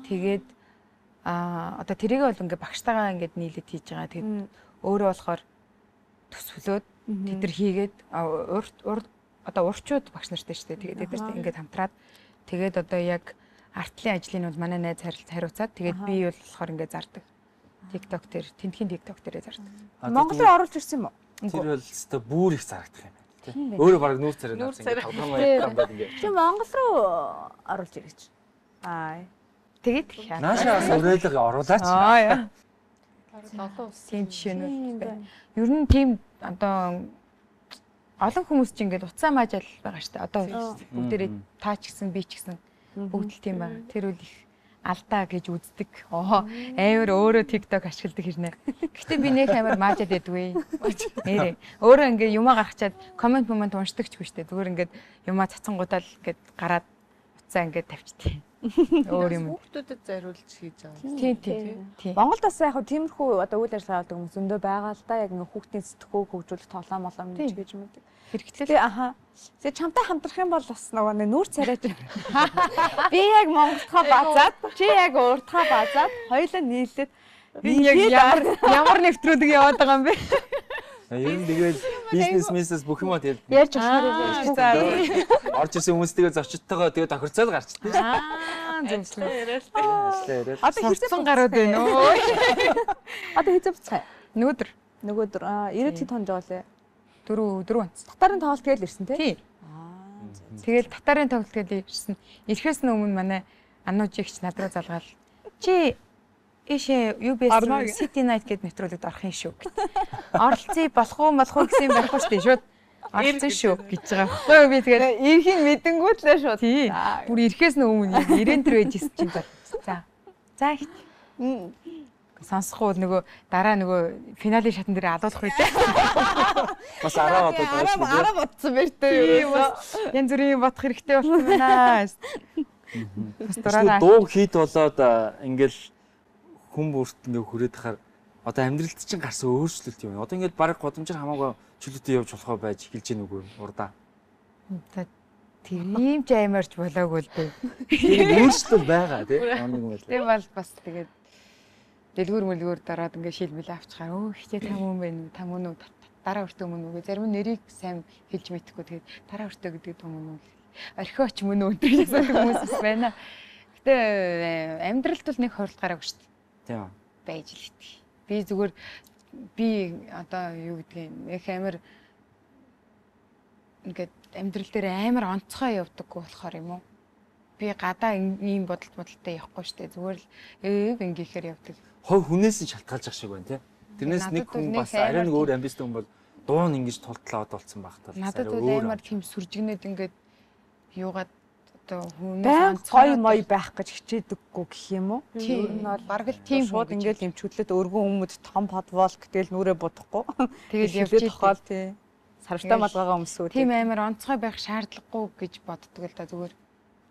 Тэгээд одоо тэрийг бол ингээ багштайгаа ингээ нийлээд хийж байгаа. Тэгээд өөрөө болохоор төсвөлөөд тэд нар хийгээд одоо урчууд багш нартай шүү дээ. Тэгээд тэд нарт ингээд хамтраад тэгээд одоо яг артлын ажлыг бол манай найз хариуцаад тэгээд би бол болохоор ингээд зардаг. TikTok дээр, тентхийн TikTok дээрээ зардаг. Монгол руу оруулж ирсэн юм уу? Тэр бол өстой бүр их зарагдах юм байна тийм. Өөрөө баг нүүр царай нуусан ингээд тоглоом байдаг ингээд. Чи Монгол руу оруулж ирэж. Тэгээд наашаас урайлга оруулаач. яа. олон ус. Тийм жишээнүүд байна. Ер нь тийм одоо олон хүмүүс ч ингээд уцаа маажаал байгаа шүү дээ. Одоо бүгдээрээ таа ч гэсэн би ч гэсэн бүгд л тийм байна. Тэр үл их алдаа гэж үздэг. Амар өөрөө TikTok ашигладаг хэрнээ. Гэхдээ би нэг амар маажаад байдгүй. Нэрээ. Өөрөө ингээд юмаа гаргачаад комент уншдаг чгүй шүү дээ. Зүгээр ингээд юмаа цацангуудаа л ингээд гараад уцаа ингээд тавьчихдаг. Өөр юм. Хүүхдүүдэд зориулж хийж байгаа. Тийм. Монголд бас яг тиймэрхүү одоо үйл ажиллагаа гэдэг хүмүүс зөндөө байгаа л да. Яг ингээ хүүхдийн сэтгхүүг хөгжүүлэх тоглоом молом гэж мэддэг. Хэрэгтлээ. Тэгээ чамтай хамтрах юм бол бас нөгөө нүүр царайж. Би яг Монголдхоо базаад, чи яг урдхаа базаад, хоёулаа нийлээд яг ямар нэвтрүүлэг яваад байгаа юм бэ? Ер нь тэгэл бизнес бүх юмаа тэгэл ярьж өгөхөөр орж ирсэн хүмүүстэйгээ зочдтойгоо тэгээ тохирцоод гарчдаг. Яриад. Одоо хэцэн гарууд байна уу? Одоо хэзээ буцаа? Нөгөөдөр 90 хэд хонд жаалаа. 4 онц. Татарын тоглолт гээл ирсэн тий? Тэгэл татарын тоглолт гээл ирсэн. Ирэхээс өмнө манай ануужигч над руу залгаал. Чи Ишээ UBS City Night гэдэг нэвтрүүлэгт орох юм шүү. Оролцъё болох уу гэсэн байхгүй шүү дээ шууд. Оролцсон шүү гэж байгаа байхгүй би тэгээд Ирхийн мэдэнгүүт лээ шууд. Тий. Бүр ирэхээс өмнө ирээн төр ээж чинь за. За их сонсохгүй нөгөө дараа нөгөө финалийн шатн дээр алуулах үедээ бас араа бодож байна шүү дээ. Араа бодсон байж тээ. Янз бүрийн бодох хэрэгтэй болсон байна. Бас дураараа дуу хийд болоод ингээл хүн бүрт ингээ хүрээд хахаар одоо амьдралд чинь гарсан өөрчлөлт юм. Одоо ингээд баг годомжир хамаагүй чөлөөтэй явж болохоо байж эхэлж гэнэ үгүй урдаа. Тийм ч аймарч болоогүй л дээ. Тийм өөрчлөлт байгаа тийм. Тийм бол бас тэгээд дэлгүүр дараад ингээ шилмэл авчихаар хичээ там юм байна. Там үнэ дараа өртөө мөн үгүй. Зарим нь нэрийг сайн хэлж мэдэхгүй тэгээд дараа өртөө гэдэг том юм уу. Орхиоч мөн үү гэдэг хүмүүс байна. Гэтэ амьдралд бол нэг хорилт гараагүй шүү дээ. Тийм. Байж л идэг. Би зүгээр одоо юу гэдгийг их амар ингээд амьдрал дээр амар онцгой явдаггүй болохоор юм уу? Би гадаа ийм бодолтой явахгүй штэ. Зүгээр л ингэхээр явдаг. Хой хүнээс нь шалтгаалж ах шиг байна тий. Тэрнээс нэг хүн бас арай нэг өөр амбицтай хүн бол дуун ингэж тултлаад болцсон байх тал. Надад бол амар тийм сүржигнээд ингээд юугаад одоо хүнээс гоё мой байх гэж хичээдэггүй гэх юм уу? Ер нь бол бараг л тийм шууд ингээд эмчүүдлээд өргөн өмд том подвол гэтэл нүрээ бодохгүй. Тэгээд явж тохиол тий. Сарвтай малгайгаа өмсөө. Тийм амар онцгой байх шаардлагагүй гэж боддог л да зүгээр.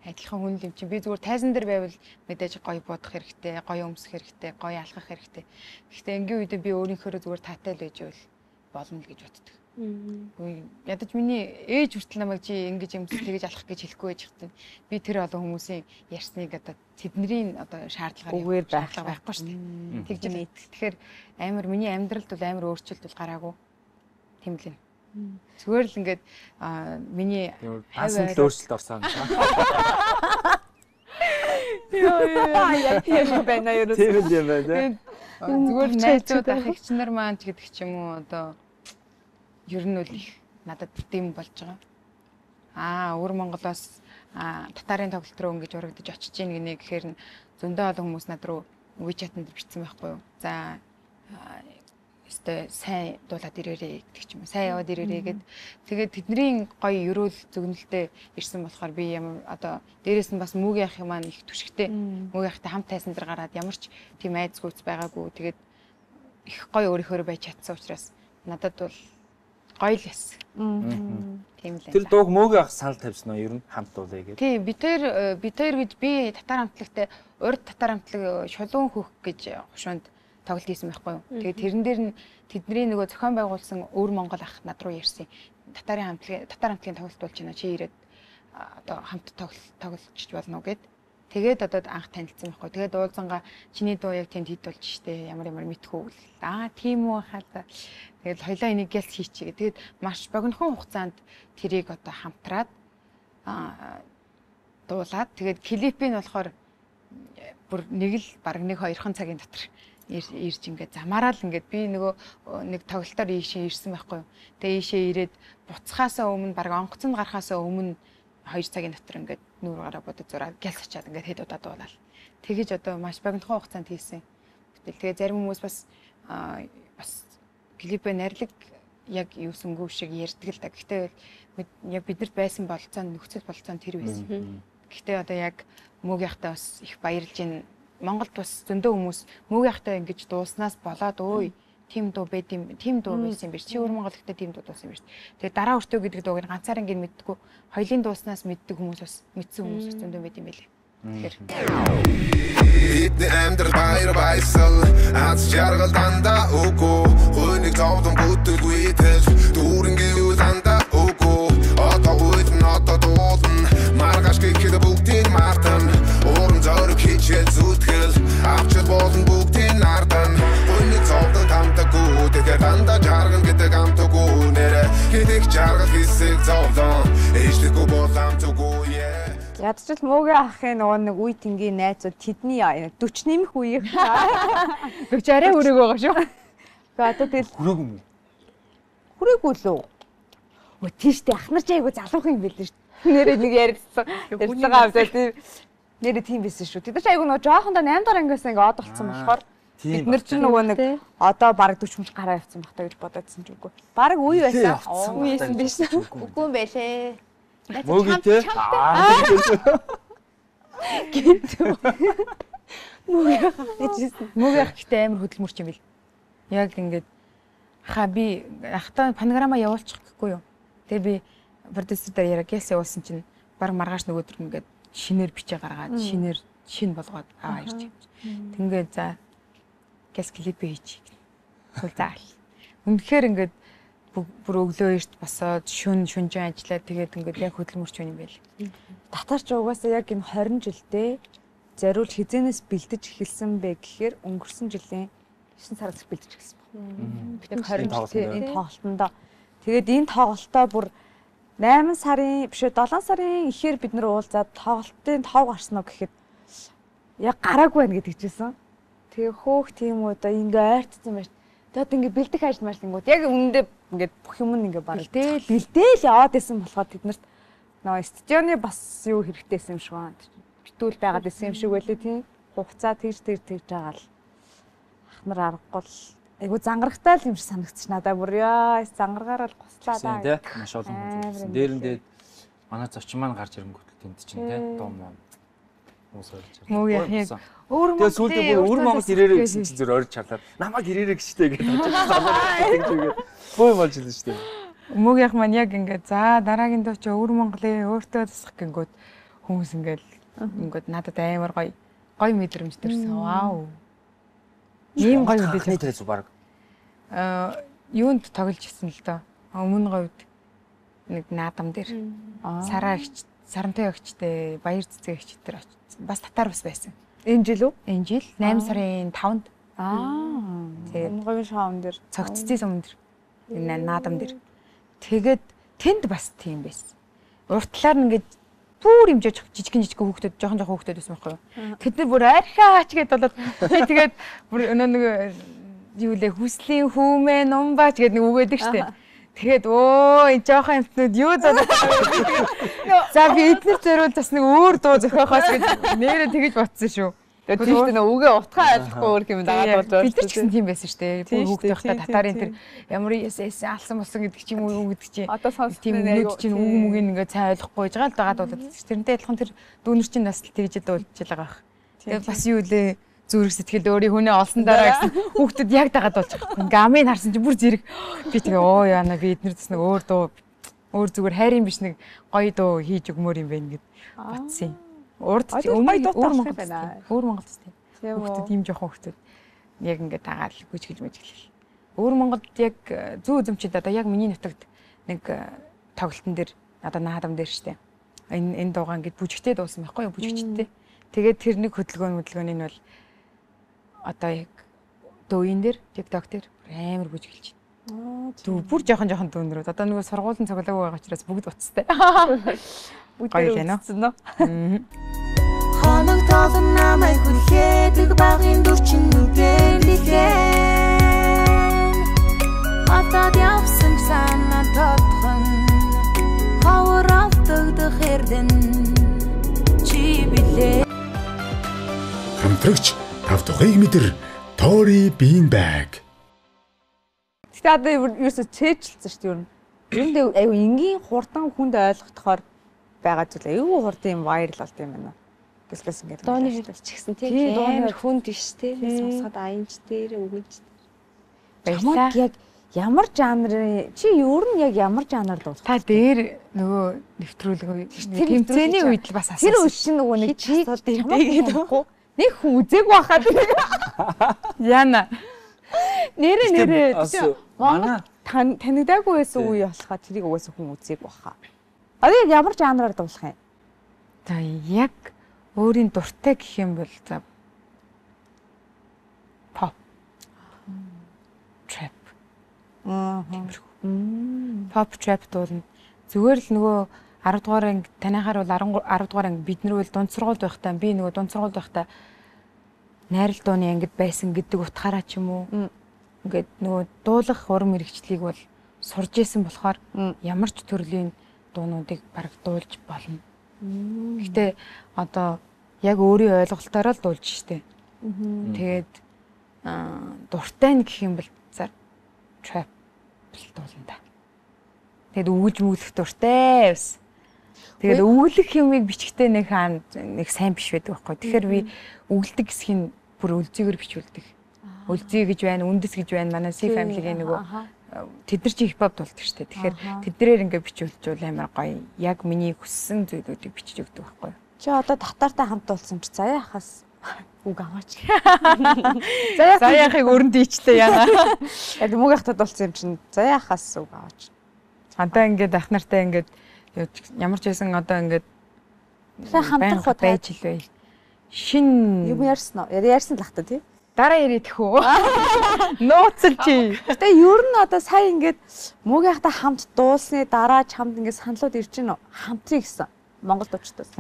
Адилхан хүн юм чинь би зүгээр тайзан дээр байвал мэдээж гоё бодох хэрэгтэй, гоё өмсөх хэрэгтэй, гоё алхах хэрэгтэй. Гэхдээ ингийн үедээ би өөрийнхөө зүгээр таатай л байж болно л гэж боддог. Ядаж миний ээж хүртэл намайг чи ингэж юмс тэгэж алах гэж хэлэхгүй байж хэвтэн. Би тэр олон хүмүүсийн ярьсныг одоо тэдний одоо шаардлагаар үгээр байхгүй шүү дээ. Тэгж мэд. Тэгэхээр амар миний амьдралд бол амар өөрчлөлт бол гараагүй. Тийм л юм. Зүгээр л ингээд миний хасан л өөрчлөлт орсон. Яа тийм байна юу? Тийм л юм байна. Зүгээр найзууд ахигч нар маань ч гэдэг ч юм уу одоо ер нь үл их надад тийм болж байгаа. Өвөр Монголоос татарын тоглолт руу ингэж урагдаж очиж ийн гинэ гэхээр зөндөө олон хүмүүс над руу WeChat-д бичсэн байхгүй юу. За өстой сайн дуулаад ирээрээ гэдэг ч юм уу. Сайн яваад ирээрээ гэд. Тэгээд тэдний гоё ерөөл зөгнөлтөд ирсэн болохоор би ямар одоо дээрээс нь бас мүүгийн ах юм маань их түшигтэй. Мүүгийн ахтай хамт тайсан дээр гараад ямар ч тийм айцгүйц байгаагүй. Тэгээд их гоё өөрийнхөө байж чадсан учраас надад бол гоё л эс. Тийм л. Тэр дууг мөөгийн ах санал тавьсан уу? Ер нь хамт дуулаа гэдэг. Тий, бид хоёр гэж би татар хамтлагтай урд татар хамтлаг шулуун хөх гэж хошоонд тоглолт хийсэн байхгүй юу. Тэгээд тэрэн дээр нь тэдний нөгөө зохион байгуулсан өвөр Монгол ах над руу ярьсан. Татар хамтлагийн тоглолт болж байна. Чи ирээд одоо хамт тоглолцож болно гэд. Тэгээд одоо анх танилцсан байхгүй. Тэгээд уулзангаа чиний дуу яг тэнд хит болж штэ. Ямар мэдхүү гэл. Тийм үү хаа. Тэгээд хоёлаа энийг гэлс хийчихье. Тэгээд маш богинохон хугацаанд тэрийг одоо хамтраад дуулаад тэгээд клип нь болохоор бүр нэг л баг 1-2 цагийн дотор ирж ингээд замаараа л ингээд би нөгөө нэг тоглолтоор ийшээ ирсэн байхгүй юу. Тэгээ ийшээ ирээд буцхаасаа өмнө баг онгоцонд гарахаасаа өмнө 2 цагийн дотор ингээд нүүр гараа бодож зураад гялс очиад ингээд хэд удаа дуулаад. Тэгэж одоо маш богинохон хугацаанд хийсэн. Тэгээ зарим хүмүүс бас клипээ найрлаг яг юусангүй шиг ярьдаг л да. Гэхдээ яг биднэрт байсан болцоо нөхцөл болцоо тэр байсан. Гэхдээ одоо яг мөөгийнхтэй бас их баярлж байна. Монголд бас зөндөө хүмүүс мөөгийнхтэй ингэж дууснаас болоод өөй тим дуу байд юм, тим дуу байсан юм биш. Чи өр Монгол ихтэй тим дуу дуусан юм биш. Тэгээ дараа өртөө гэдэг дууг нь ганцаараа ингэ мэддэггүй. Хоёлын дууснаас мэддэг хүмүүс бас мэдсэн хүмүүс бас зөндөө байд юм байлээ. Бидний амьдрал баяр баясгал аз жаргал дандаа үгүй хөөнийг зовлон бүтэлгүй тэл дүүрэнгийн үйл дандаа үгүй одоо үед нь одоо дуулна маргааш гэхэд бүгдийг мартан уурын зориг хичээл зүтгэл авчил болон бүгдийг нардан хөөнийг зовлон тамтаггүй тэгэхээр дандаа жаргал гэдэг амтаггүй нэрэ хэдих жаргал хэсэг зовлон ээжлэхгүй бол амтаггүй Ядчил мөөгийн ахын нөгөө нэг үе тэнгийн найзууд тэдний 40 нэмэх үеийг 40 арай хүрэг байгаа шүү. Тэгээ одоо тэгэл хүрээгүй юм. Хүрээгүй лөө. Өө тийштэй ах нар ч айгу залуух юм билээ шүү. Нэрээ нэг ярьсан. Ярьсан авсаа тийм нэрээ тийм байсан шүү. Тэд нар айгу нөгөө жоохондоо 8 дахь ангиас ингээ од болцсон болохоор бид нар ч нөгөө нэг одоо бараг 40 мөр гараа явцсан бахтаа гэж бодоодсэн ч үгүй. Бараг үе байсан. Үе байсан биш. Үгүй юм байлээ. Мөгийтэй. Мөгийг гэхдээ амар хөдөлмөрч юм бил. Яг ингээд би ахтаа панорама явуулчих гэхгүй юу. Тэгээ би продюсер дээр ярагээс явуулсан чинь баг маргааш нөгөөдөр ингээд шинээр бичээ гаргаад шин болгоод ирж. Тингээ за гэс клип хийчих. Тэгвэл заал. Үнэхээр ингээд бүр өглөө эрт босоод шүнжэн ажиллаад тэгээд ингээд яг хөдөлмөрч юм байл. Татарч угаасаа яг энэ 20 жилдээ зориул хизэнээс бэлдэж эхэлсэн бэ гэхээр өнгөрсөн жилийн 9 сараас бэлдэж эхэлсэн байна. Бид 20 жилдээ энэ тоглолтондоо тэгээд энэ тоглолтоо бүр 8 сарын биш 7 сарын ихээр бид нар уулзаад тоглолтын тов гарсан уу гэхэд яг гараагүй байна гэдэг чийсэн. Тэгээ хөөх тийм үү одоо ингээ ойртсон байж. Тэгээд ингээ бэлдэх ажил машингууд яг үнэндээ ингээд бүх юм ингээ бараг бэлдээл яваад исэн болохоор тэднэрт нөө студионы бас юу хэрэгтэйсэн юм шиг байна. Битүүл байгаад исэн юм шиг байлээ тийм. Хугацаа тэгж байгаа л ах нар аргагүй айгу зангарагтай л юм шиг санагдчих надаа бүр яа зангаргаар л гослаа даа. Маш олон хүмүүс. Дээрэндээ манай зочин маань гарч ирэнгүүт тэнд чинь тийм дом мөн. Мөөгийн Тэгээ сүүлдээ бүр өр Монгол ирээрээ гэсэн чинь зүр орж чарлаад намайг ирээрээ гэжтэй гэж бодчихсон. Бөө юм болж илэн штэ. Мөөгийнх маань яг ингээд за дараагийн дуу чи өр Монголын өөртөө тасах гингүүд хүмүүс ингээд надад амар гоё мэдрэмж төрсөн. Вау. Ийм гоё мэдээж тэр зүг баг. Юунд тоглож ирсэн л доо. Өмнө говьд нэг наадам дээр сарантай өгчтэй баяр цэцэг өгч тэр бас татар бас байсан. Энэ жил үү? Энэ жил 8 сарын 5-нд. Тэгээд говийн шоун дээр цогццын сумн дээр энэ наадам дээр. Тэгээд тэнд бас тийм байсан. Уртлаар ингээд бүр имжиж жижиг хүүхдүүд жоохон хүүхдүүд байсан байхгүй юу? Тэд нар бүр архиаач гэдээ болоод тэгээд бүр нэг юу лээ хүслийн хүмээ нумбаач гэдэг нэг үг өгдөг штеп. Тэгээд энэ жоохон юмтнууд юу зодод. За би эдгээр зориул бас нэг өөр дуу зохиохоос гэж нэрээ тэгэж бодсон шүү. Тэгээд тийш нэг үгээ утгаа ойлгохгүй өөр юм дагаад болж байгаа. Бид нар ч гэсэн тийм байсан шүү дээ. Бүр хүүхдээ байхдаа татарын тэр ямар ясээс алсан болсон гэдэг чи юм уу гэдэг чи. Одоо сонсох тийм нүд чинь үг мүгийн ингээ цай ойлгохгүй байж байгаа л дагаад болоод тэрнтэй адилхан тэр дүүнер чинь бас тэгж л уулж байгаа байх. Тэгээд бас юу лээ зүрх сэтгэл өөрийн хүнээ олсон дараа гэсэн хүүхдэд яг дагаад болж байгаа. Ингээ амын харсан чи бүр зэрэг би тэгээ яана би эднэр бас нэг өөр дуу өөр зүгээр хайрын биш нэг гоё дуу хийж өгмөр юм байна гэд батсан. Урд өөр Монголд байна. Өөр Монголд тийм. Хүүхдэд ийм жоохон хүүхдэд яг ингээ дагаад гүжгэлж мэжгэлээ. Өөр Монголд яг зүү үзэмчид одоо яг миний нутагт нэг тоглолтын дээр одоо наадам дээр штэ. Энэ дуугаа ингээ бүжигтэй дуусан байхгүй юу бүжигчтэй. Тэгээд тэр нэг хөдөлгөөний нь бол одоо яг дууин дээр TikTok дээр амар бүжгэлж байна. Бүр жоохон дүүнрүүд. Одоо нөгөө сургуулийн цуглаагүй байгаа учраас бүгд утастай. Гоё лээ нөө. Хоног толон намайг хүлээдэг багын дүрчин нүдээр нэлээн Атад явсан санаа тодхон хавар автагдах эрдэн чи билээ Хамтрагч 5 дугайг мэдэр Tory Bean Bag. Гэтэ одоо ерөөсөө цээжилсэн шүү дээ ер нь. Ер нь аюу энгийн хурдан хүнд ойлгохоор байгаа зүйл аюу хурдан юм вайрал болд юм байна. Гэлээс ингээд дооны хэлбэр ч гэсэн тийм амар хүнд биш тийм сонсоход аянч дээр өгөөж Баярлалаа. Яг ямар жанрын чи ер нь яг ямар жанрд болох Та дээр нөгөө нэвтрүүлэг тэмцээний үед л бас асуусан. Тэр үе чинь нөгөө нэг чи тэгээд нэг хүн үзег байхад Яна нэрээ манай танигдаагүй байсан үе болохоо тэрийг угаасаа хүн үзег байхаа. Одоо яг ямар жанраар дуулах юм? За яг өөрийн дуртай гэх юм бол за pop trap pop trap дуулна. Зүгээр л нөгөө 10 дугаар анги танихаар бол 10 дугаар анги бид нар бол дунд сургуульд байхдаа би нөгөө дунд сургуульд байхдаа найрал дууны ангид байсан гэдэг утгаараа ч юм уу ингээд нөгөө дуулах урам мэрэгчлийг бол сурж исэн болохоор ямар ч төрлийн дуунуудыг бараг дуулж болно. Гэхдээ одоо яг өөрийн ойлголтоор л дуулж штэ. Тэгээд дуртай нь гэх юм бол за trap дуулна да. Тэгээд өгүүлж мүглэх дуртай бас. Тэгээд өгүүлэх юмыг бичгтээ нэг сайн биш байдаг байхгүй. Тэгэхээр би өгүүлдэг хэсгийг бүр өлзийгээр бичүүлдэг. Өлзий гэж байна, үндэс гэж байна. Манай C family-гийн нөгөө тэд нар чи хипхоп дуулдаг шүү дээ. Тэгэхээр тэднэрээр ингээ бичүүлж амар гоё. Яг миний хүссэн зүйлүүдийг бичиж өгдөг байхгүй. Чи одоо татартай хамт дуулсан чи заяа хас үг аваач. Заяахыг өрөнд ийчлээ яана. Яг муугахтад дуулсан юм чинь заяа хас үг аваач. Одоо ингээд ах нартай ингээд ямар ч байсан одоо ингээд хамтрах уу байж л бай. Шин юм ярьсан уу? Ярьсан л ах та тий. Дараа ярих үү? Нууцл чи. Гэтэ ер нь одоо сая ингээд муугахтай хамт дуулсны дараа ч хамт ингээд саналууд ирж гин үү? Хамтрыг гэсэн Монгол дуучдаас.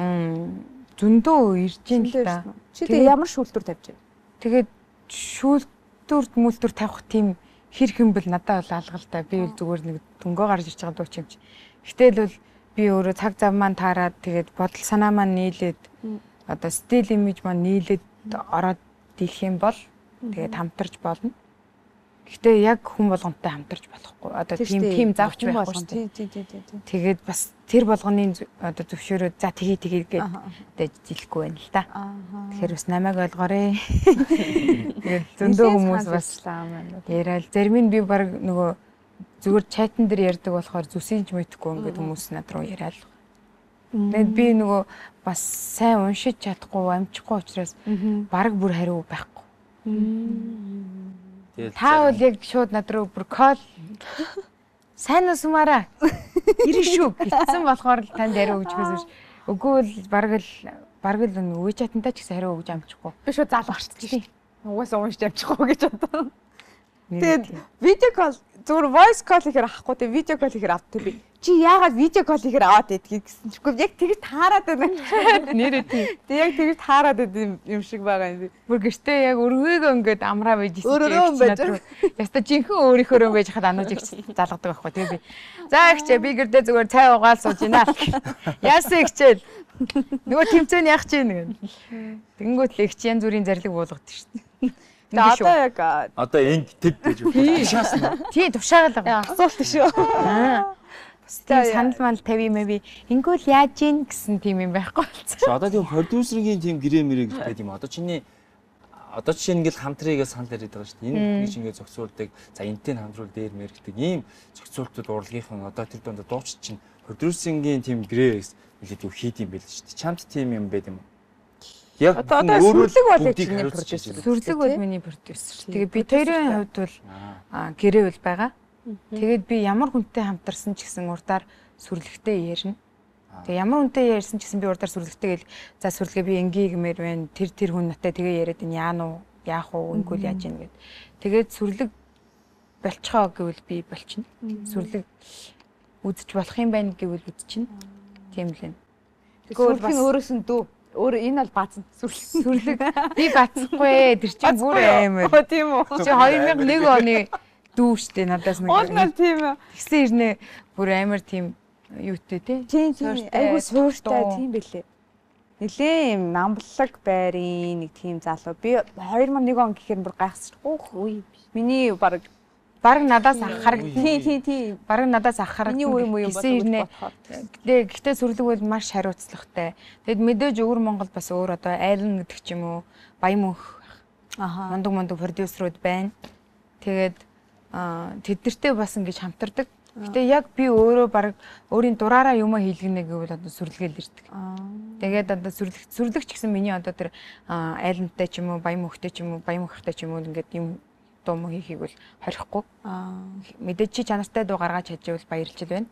Зөндөө ирж гин л да. Чи тэгээ ямар шүүлтүр тавьж байна? Тэгээд шүүлтүр мүлтүр тавих тийм хэр хэмбэл надад бол алгалтай. Би бол зүгээр нэг дөнгөө гарч ирж байгаа дууч юм чи. Гэтэл бол би өөрөө цаг зав маань таарад тэгээд бодол санаа маань нийлээд одоо стил имиж маань нийлээд ороод дийлэх юм бол тэгээд хамтарч болно. Гэхдээ яг хүн болгонтой хамтарч болохгүй. Одоо тийм завч байхгүй шүү дээ. Тэгээд бас тэр болгоны одоо зөвшөөрөө за тэгээ гэдэг дийлэхгүй байна л да. Тэгэхээр бас намайг ойлгоорой. Тэгээд зөндөө хүмүүс бас яриад зарим нь би баг нөгөө зүгээр чатан дээр ярьдаг болохоор зүсэж мэдхгүй ингээд хүмүүс над руу яриад. Тэгээд би нөгөө бас сайн уншиж чадахгүй, амжихгүй учраас баг бүр хариу байхгүй. Та бол яг шууд над руу бүр кол сайн усмаараа ирэх шүү гэсэн болохоор л танд хариу өгч байсан. Үгүй бол баг л үе чатантаа ч гэсэн хариу өгж амжихгүй. Би шууд залгарччихлээ. Угаасаа уншиж амжихгүй гэж бодсон. Тэгээд видео кол зүгээр voice call хийхээр авахгүй те видео кол хийхээр авдаг би. Чи яагаад видео кол хийхээр аваад байдгийг гэсэн чиггүй яг тэгж таарад байна. Нэрээ тийм. Тэг яг тэгж таарад байдаг юм шиг байгаа юм би. Бүр гэртээ яг өргөөгөө ингээд амраа байж ирсэн. Яста жинхэнэ өөрийнхөө байж хаад анууж их залгадаг байхгүй тэгээ би. За ихчээ би гэрдээ зүгээр цай угаал сууж байна. Яасан ихчээл. Нөгөө тэмцээний яах чинь нэг. Тэнгүүт л ихч янз бүрийн зарлиг буулгад шүү дээ. Одоо яг одоо энг тэд гэж тушаасан. Тий тушаагаа л асуулт шүү. Тийм санал мал 50 мэви ингүүл яаж ийн гэсэн тийм юм байхгүй болсон. Одоо тийм продюсергийн тийм гэрээ мэрэг гэдэг юм. Одоо чиний одоо чинь ингээл хамтрыгаас санал яриад байгаа шүү дээ. Энэ гэж ингээд зохицуулдаг. За энтэй хамтруул дээр мэрэгдэг ийм зохицуултууд урлагийнхан одоо тэр донд дууч чинь продюсергийн тийм гэрээс нэлээд юу хийд юм байл шүү дээ. Чамд тийм юм байд юм. Яг одоо сүрлэг бол чиний продюсер. Сүрлэг бол миний продюсер. Тэгээ би тэрийн хувьд бол гэрээ бол байгаа. Тэгээд би ямар хүнтэй хамтарсан ч гэсэн урдаар сүрлэгтэй ярьна. Тэгээ ямар хүнтэй ярьсан ч гэсэн би урдаар сүрлэгтэй гэл за сүрлэгээ би энгийгмээр байна. Тэр хүн наттай тэгээ яриад энэ яа нү яах уу ингүүл яаж ийн гэд. Тэгээд сүрлэг болчихоо гэвэл би болчихно. Сүрлэг үзэж болох юм байна гэвэл үзчихнэ. Тийм л энэ. Сүрлэг өөрөөс нь дүү. Өөр энэ бол баазна. Сүрлэг би бацхгүй. Тэр чинь бүр амар. Тийм үү. Чи 2001 оны дүү штэ надаас нэг. Уул тийм үү. Тэгсэн ирнэ бүр амар тийм юутэй тий. Тийм. Айгу сууртай тийм бэлээ. Нилээ юм намблаг байрын нэг тийм залуу. Би 2001 он гэхээр бүр гайхсаж. Үгүй. Миний баг надаас ах харагдсан. Тийм. Баг надаас ах харагдсан. Миний үе юм болов. Гэхдээ сүрлэг бол маш хариуцлагатай. Тэгэд мэдээж өвөр Монгол бас өөр одоо айлн гэдэг ч юм уу, Баянмөнх. Мундаг продюсерууд байна. Тэгээд тэднэртэй бас ингэж хамтардаг. Гэтэ яг би өөрөө баг өөрийн дураараа юмаа хийлгэнэ гэвэл одоо сүрлэгээл ирдэг. Тэгээд одоо сүрлэгч гэсэн миний одоо тэр айлнтай ч юм уу, Баянмөнхтэй ч юм уу, Баянмөнхтэй ч юм уу ингээд юм дуу муу хийхийг бол хорихгүй. Мэдээж чи чанартай дуу гаргаж чадчихвал баярлж байна.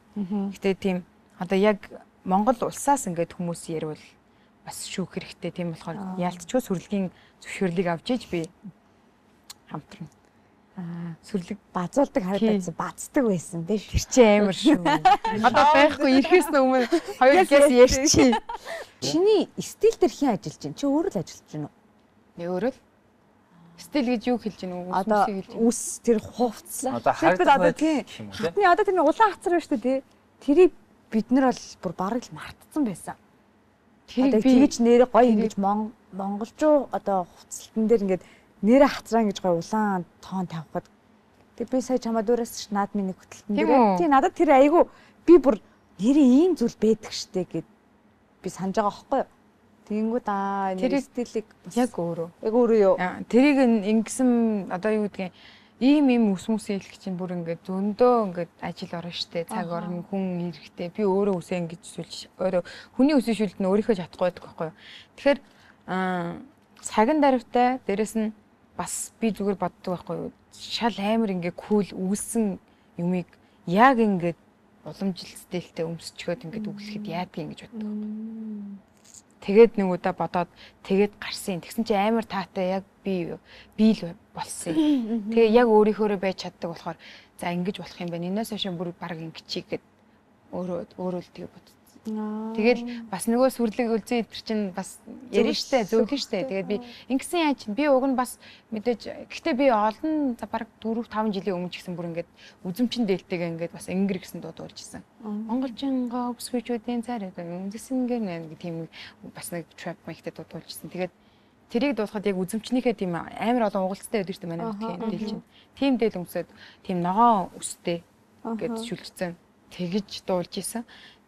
Гэтэ тийм одоо яг Монгол улсаас ингээд хүмүүс ярил бас шүүх хэрэгтэй. Тийм болохоор яалтчгүй сүрлэгийн зөвшөөрлийг авч иж би хамтрна. Сүрлэг базуулдаг харагдсан бацдаг байсан биш. Тэр чи амар шүү. Одоо байхгүй ирэхээс өмнө хоёр гээс ярьчих. Чиний стил дээр хин ажиллаж байна. Чи өөрөө л ажиллаж байна уу? Би өөрөө л стил гэж юу хэлж байна уу? Одоо үс тэр хувцс. Одоо харагдах юм уу те? Хатны одоо тэр улаан хацар байна шүү дээ. Тэрийг бид нар бол бүр бараг л мартсан байсан. Тэр тэгж нэрээ гоё ингэж монголчуу одоо хувцсалтан дээр ингээд нэрээ хацраа ингэж гоё улаан тоон тавихад тэг би сая чамаа дуураас ш наадмын нэг хөтөлтөн дээр тий надад тэр айгу би бүр нэрээ ийм зүйл байдаг штэ гэд би санаж байгаа байхгүй юу? Тэнгүүд нэр стилийг яг өөрөө. Яг өөрөө юу? Тэрийг ингэсэн одоо юу гэдгийг ийм үсмүсээ хэлэх чинь бүр ингээд зөндөө ингээд ажил орно штэ цаг орно хүн ирэхтэй би өөрөө үсээ ингэж сүлж өөрөө хүний үсээ шүлд нь өөрийнхөө чадахгүй байдаг байхгүй юу? Тэгэхээр цаган дарвтай дээрэс нь бас би зүгээр боддог байхгүй юу? Шал амар ингээд кул үүссэн юмыг яг ингээд уламжилтэлтэй өмсчгөөд ингээд өглөхөд яадгийг ингэж боддог. Тэгээд нэг удаа бодоод тэгээд гарсан. Тэгсэн чинь амар таатай яг би л болсон. Тэгээ яг өөрийнхөөрөө байж чаддаг болохоор за ингэж болох юм байна. Энээс хойш бүр баг ингэчий гэд өөрөө л тэгээ бодсон. Тэгэл бас нөгөө сүрлэг үлзээ итэр чинь бас ярина штэ, зөвлөн штэ. Тэгээд би ингэсэн яаж би уг нь бас мэдээж гэхдээ би олон за баг 4-5 жилийн өмнө ч гэсэн бүр ингээд үзэмчин дээлтэйгээ ингээд бас ингэр гэсэн дуу дуулж ирсэн. Монголчингаа өсгөөчүүдийн царай үндэсэнгэр нэг тийм бас нэг trap маягтай дуу дуулж ирсэн. Тэгээд тэрийг дуулахад яг үзэмчнийхээ тийм амар олон угалцтай байдаг штэ манай нутгийн дээл чинь. Тийм дээл өмсөд тийм ногоон өстэй гэж шүлжсэн. Тэгэж дуулж ирсэн.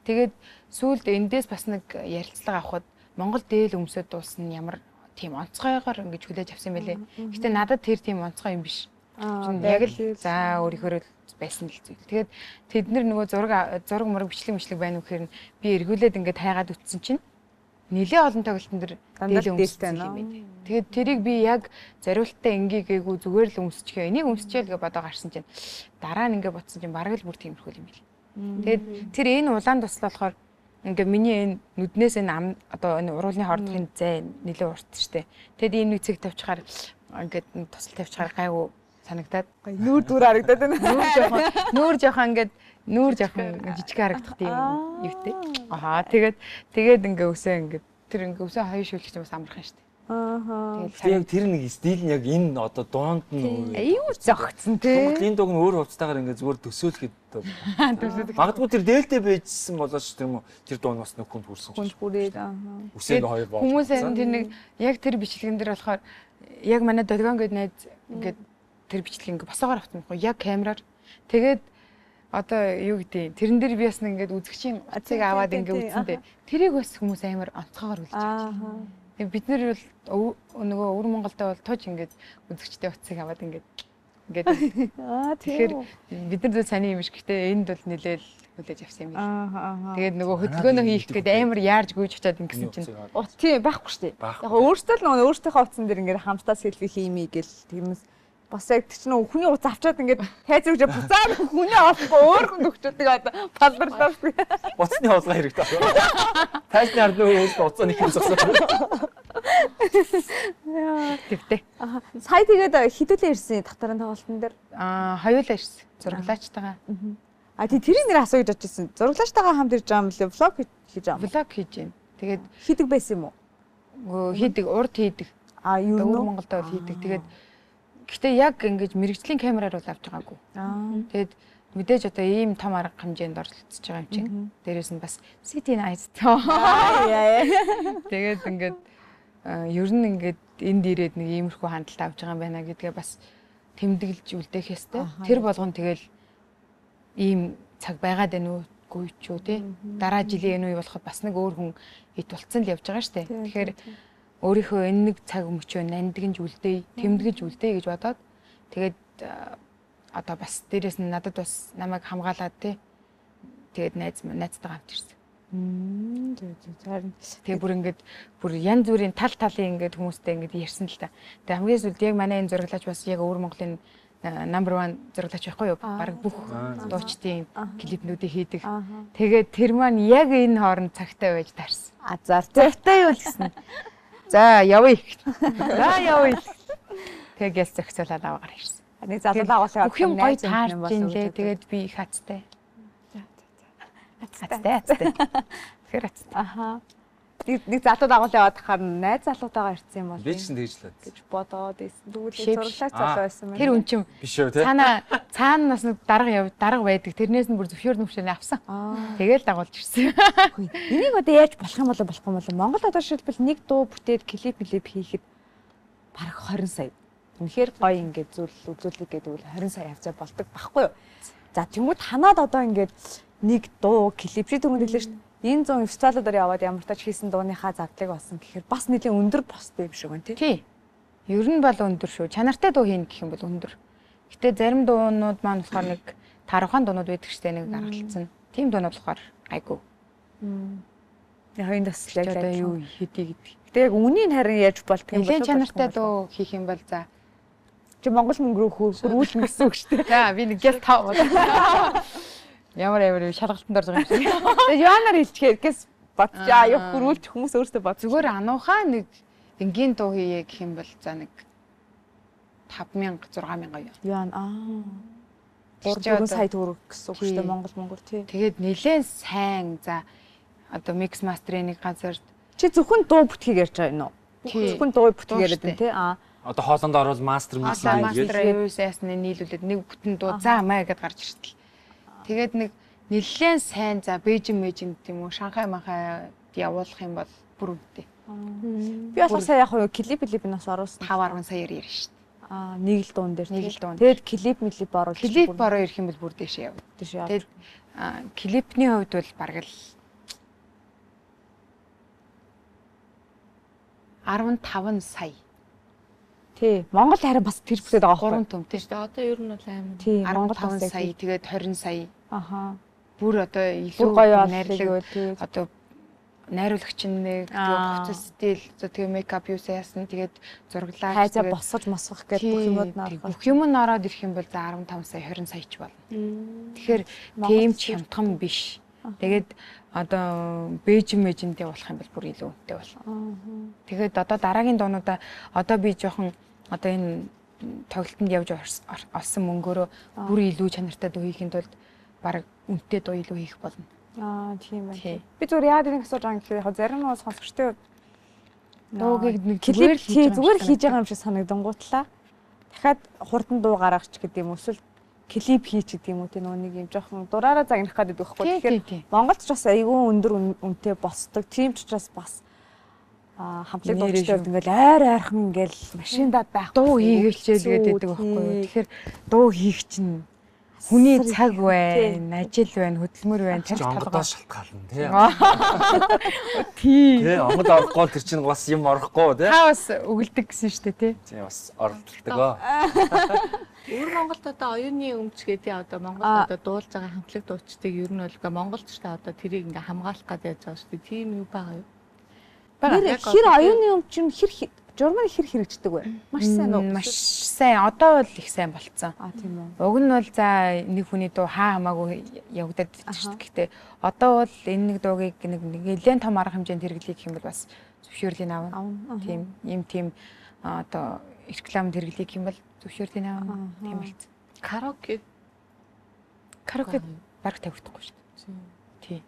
Тэгээд сүүлд эндээс бас нэг ярилцлага авахад Монгол дээл өмсөд дуулсан ямар тийм онцгойгоор ингэж хүлээж авсан байлээ. Гэтэ надад тэр тийм онцгой юм биш. Яг л за өөрийнхөө байсан л зүйл. Тэгээд тэд нөгөө зураг мураг бичлэг байна гэхээр би эргүүлээд ингээд хайгаад үтсэн чинь нэлээ олон тоглолтын дээр дээл өмссөн юм байна. Тэгээд тэрийг би яг зориултаа ингэгээгүй зүгээр л өмсчихээ. Энийг өмсчихээ л гэж бодоо гарсан чинь дараа нь ингээд бодсон чинь бараг л бүр тиймэрхүү юм байл. Тэгээд тэр энэ улаан туслал болохоор ингээ миний энэ нүднээс энэ одоо энэ уруулны хордлогын зай нэлээ урт штэ. Тэгэд энэ нэг цэг тавьчихаар ингээд тусал тавьчихаар гайгүй санагдаад нүүр дүр харагдаад байна. Нүүр жоохон жижиг харагдах тийм юутэй. Тэгээд ингээ өсөө ингээ тэр ингээ өсөө хоёр шүлгэж бас амархан штэ. Яг тэр нэг стил нь яг энэ одоо доонд нь аюу зогцсон тий. Энэ дуг нь өөр хувцастайгаар ингээ зүгээр төсөөлөхэд магадгүй тэр дээлтэй байжсэн болооч тэр дуун бас нэг хүнд хүрсэн. Хүнд хүрээд үсэг хоёр боо. Хүмүүс тэр нэг яг тэр бичлэгэн дээр болохоор яг манай долгион гээд найз ингээд тэр бичлэг ингээ босоогоор авсан байхгүй яг камераар. Тэгээд одоо юу гэдэг тэрэн дээр би бас ингээд үзэгчийн ацыг аваад ингээ үзсэнтэй. Тэрийг бас хүмүүс амар онцгойгоор үлж байгаа. Бид нар бол нөгөө өвөр Монголдөө бол тож ингээд үзэгчтэй утсыг аваад ингээд тэгэхээр бид нар зөв саний юм биш гэхдээ энд бол нэлээл хүлээж авсан юм байна. Тэгээд нөгөө хөдөлгөөнөө хийх гээд амар яарж гүйж очиад ингэсэн чинь тийм байхгүй шүү дээ. Яг өөртөө л нөгөө өөртөөхөө утсан дээр ингээд хамтаа селфи хиймий гэл тиймээс бас яг чинь хүний утас авчаад ингээд тайзрууж буцаад хүний олохгүй өөр хүн өгчөөдөг одоо балбарлаа. Утасны хоолгоо хэрэгтэй. Тайзны ард нөгөө өөртөө утсаа нэг юм зогсоо. Тэвтэй. Сая тэгээд хідүүлээ ирсэн татарын тоглолтын дээр хоёулаа ирсэн. Зураглаачтайгаа. Тэрийг нэр асуу гэж бодож ирсэн. Зураглаачтайгаа хамт ирж байгаа юм лээ. Влог хийж байгаа. Влог хийж байна. Тэгээд хийдэг байсан юм уу? Хийдэг, урд хийдэг. Юу Өвөр Монголд бол хийдэг. Тэгээд гэхдээ яг ингэж мэрэгжлийн камераар бол авч байгаагүй. Тэгээд мэдээж одоо ийм том арга хэмжээнд оролцож байгаа юм чинь. Дээрээс нь бас city nice тоо. Тэгээд ингээд ер нь ингээд энд ирээд нэг иймэрхүү хандлт авч байгаа юм байна гэдгээ бас тэмдэглэж үлдээх ёстой. Тэр болгон тэгэл ийм цаг байгаад байна уугүй ч юу те. Дараа жилийн энэ үе болоход бас нэг өөр хүн ит болцсон л явж байгаа штэ. Тэгэхээр өөрийнхөө энэ нэг цаг мөчөө нандинж үлдээе, тэмдэглэж үлдээе гэж бодоод тэгээд одоо бас дээрээс нь надад бас намайг хамгаалаад те. Тэгээд найзтайгаа авч ирсэн. Тэгээ бүр ингээд бүр янз бүрийн талын ингээд хүмүүстэй ингээд ярьсан л та. Тэгээ хамгийн сүүлд яг манай энэ зураглаач бас яг өвөр Монголын number 1 зураглаач байхгүй юу? Бараг бүх дуучдын клипнүүдийг хийдэг. Тэгээд тэр маань яг энэ хооронд цагтай байж таарсан. Цагтай юу л гэсэн. За явъя. За явъя. Тэгээд зөксөлөд аваагаар ирсэн. Нэг залуу агуулсан бүх юм гоё таарч ин лээ. Тэгээд би их хацтай. Хацтай. Тэгэхээр хацтай. Аха. Нэг залуу агуулсан яваад хахаар найз залуутайгаа ирсэн юм бол. Би ч тэгж л гэж бодоод ирсэн. Дүүлээ зурлаач залуу байсан байна. Тэр үн чим биш үү те. Цаана нас нэг дарга байдаг. Тэрнээс нь бүр зөвшөөр нөхшөөрөө авсан. Тэгээл дагуулж ирсэн. Энийг одоо яаж болох юм бол Монгол одоо шилбэл нэг дуу бүтээд клип хийхэд бараг 20 сая. Үнэхээр гоё ингээд үзүүлэг гэдэг үл 20 сая хавцаа болдог байхгүй юу? За тэгмүүд ханаад одоо ингээд нэг дуу клип шиг төгөнд хэлээ шүү дээ. Энэ 100 фестивалуудаар яваад ямар тач хийсэн дууныхаа зардлыг олсон гэхээр бас нэлийн өндөр пост юм шиг байна тий. Ер нь бол өндөр шүү. Чанартай дуу хийнэ гэх юм бол өндөр. Гэтэ зарим дуунууд маань болохоор нэг тархаан дуунууд байдаг штэ нэг гаргалцсан. Тим дуунууд болохоор айгу. Яг энэ бас яг одоо юу хийдий гэдэг. Гэтэ яг үнийн харин яаж болдг юм бол чанартай дуу хийх юм бол за чи Монгол мөнгө рүү хөрвүүлнэ гэсэн үг штэ. За би нэг гэл тав. Ямар шалгалтанд орж байгаа юм шиг. Тэгээ яанаар хэлчихээ гэс бодчаа яг хөрвүүлж хүмүүс өөрсдөө бод. Зүгээр ануухаа нэг энгийн дуу хийе гэх юм бол за нэг 5000 6000 юу. Яан 3 сая төгрөг гэсэн үг шүү дээ Монгол мөнгөөр тий. Тэгээд нэлээд сайн за одоо микс мастерын нэг газар чи зөвхөн дуу бүтгийг ярьж байгаа юм уу? Зөвхөн дуу бүтгийг яриад байна тий. Одоо хоолонд орвол мастер микс юу сайсны нийлүүлээд нэг бүтэн дуу заа маа гэдээ гарч иртэл. Тэгээд нэг нэлээд сайн за Бээжин тийм үү Шанхай махай явуулах юм бол бүр үнэтэй. Би бас сая яг юу клип нас оруулсан 5-10 саяар ярина шүү дээ. Нэг л дуун дээр нэг л дуун. Тэгээд клип оруулах. Клип бороо ирэх юм бол бүр дэше яв. Тэгээд клипний хувьд бол бараг л 15 сая. Тий. Монгол харин бас тэр бүтэд байгаа 3 төм тий. Одоо ер нь бол амар. Тий. 15 сая тэгээд 20 сая. Аха. Бүр одоо илүү найрлаг одоо найруулагч нэг хувцас стил тэгээ мейкап юу яасан тэгээд зураглаа хайзаа босгож мосгох гэдэг бүх юмуд нарах. Бүх юм нь ороод ирэх юм бол за 15 сая 20 сая ч болно. Тэгэхээр тийм ч хямдхан биш. Тэгээд одоо Бээжинд явуулах юм бол бүр илүү үнэтэй болно. Тэгээд одоо дараагийн дуунуудаа одоо би жоохон одоо энэ тоглолтод явж олсон мөнгөөрөө бүр илүү чанартай дуу хийхэд бол бараг үнэтэй дуу илүү хийх болно. Тийм байна. Би зүгээр яагаад энийг асууж байгаа юм гэхээр яг зарим нэг сонсогчтой дуугийг нэг зүгээр л хийж байгаа юм шиг санагдангуутлаа. Дахиад хурдан дуу гаргах ч гэдэг юм эсвэл клип хийч гэдэг юм уу тийм нэг юм жоохон дураараа загнах гэдэг байхгүй. Тэгэхээр Монголд ч бас айгүй өндөр үнэтэй босдог. Тийм ч учраас бас хамтлаг дуучтай ингээл ойрхон ингээл машиндаа байх дуу хийгээчээл гэдэг байхгүй. Тэгэхээр дуу хийх чинь хүний цаг байна, ажил байна, хөдөлмөр байна, тарих талгаа шалтгаална тий. Тий. Тий, онгод орохгүй тэр чинь бас юм орохгүй тий. Та бас өгөлдөг гэсэн шүү дээ тий. Тий, бас оролддог. Өвөр Монголд одоо оюуны өмч гэдэг одоо Монголд одоо дуулж байгаа хамтлаг дуучдыг ер нь бол Монголч та одоо тэрийг ингээ хамгаалах гэдэг яаж байгаа шүү дээ. Тийм юу байгаа юу? Хэр оюуны өмч юм хэр журмын хэр хэрэгждэг вэ? Маш сайн уу? Маш сайн. Одоо бол их сайн болцсон. Тийм үү. Уг нь бол за нэг хүний дуу хамаагүй явагдаад шүү дээ. Гэхдээ одоо бол энэ нэг дуугийг нэг нэлээд том арга хэмжээнд хэрэглэх юм бол бас зөвшөөрлийг авна. Тийм одоо рекламд хэрэглэх юм бол зөвшөөрлийг авна. Тийм болцсон. Караоке бараг тавигдахгүй шүү дээ. Тий.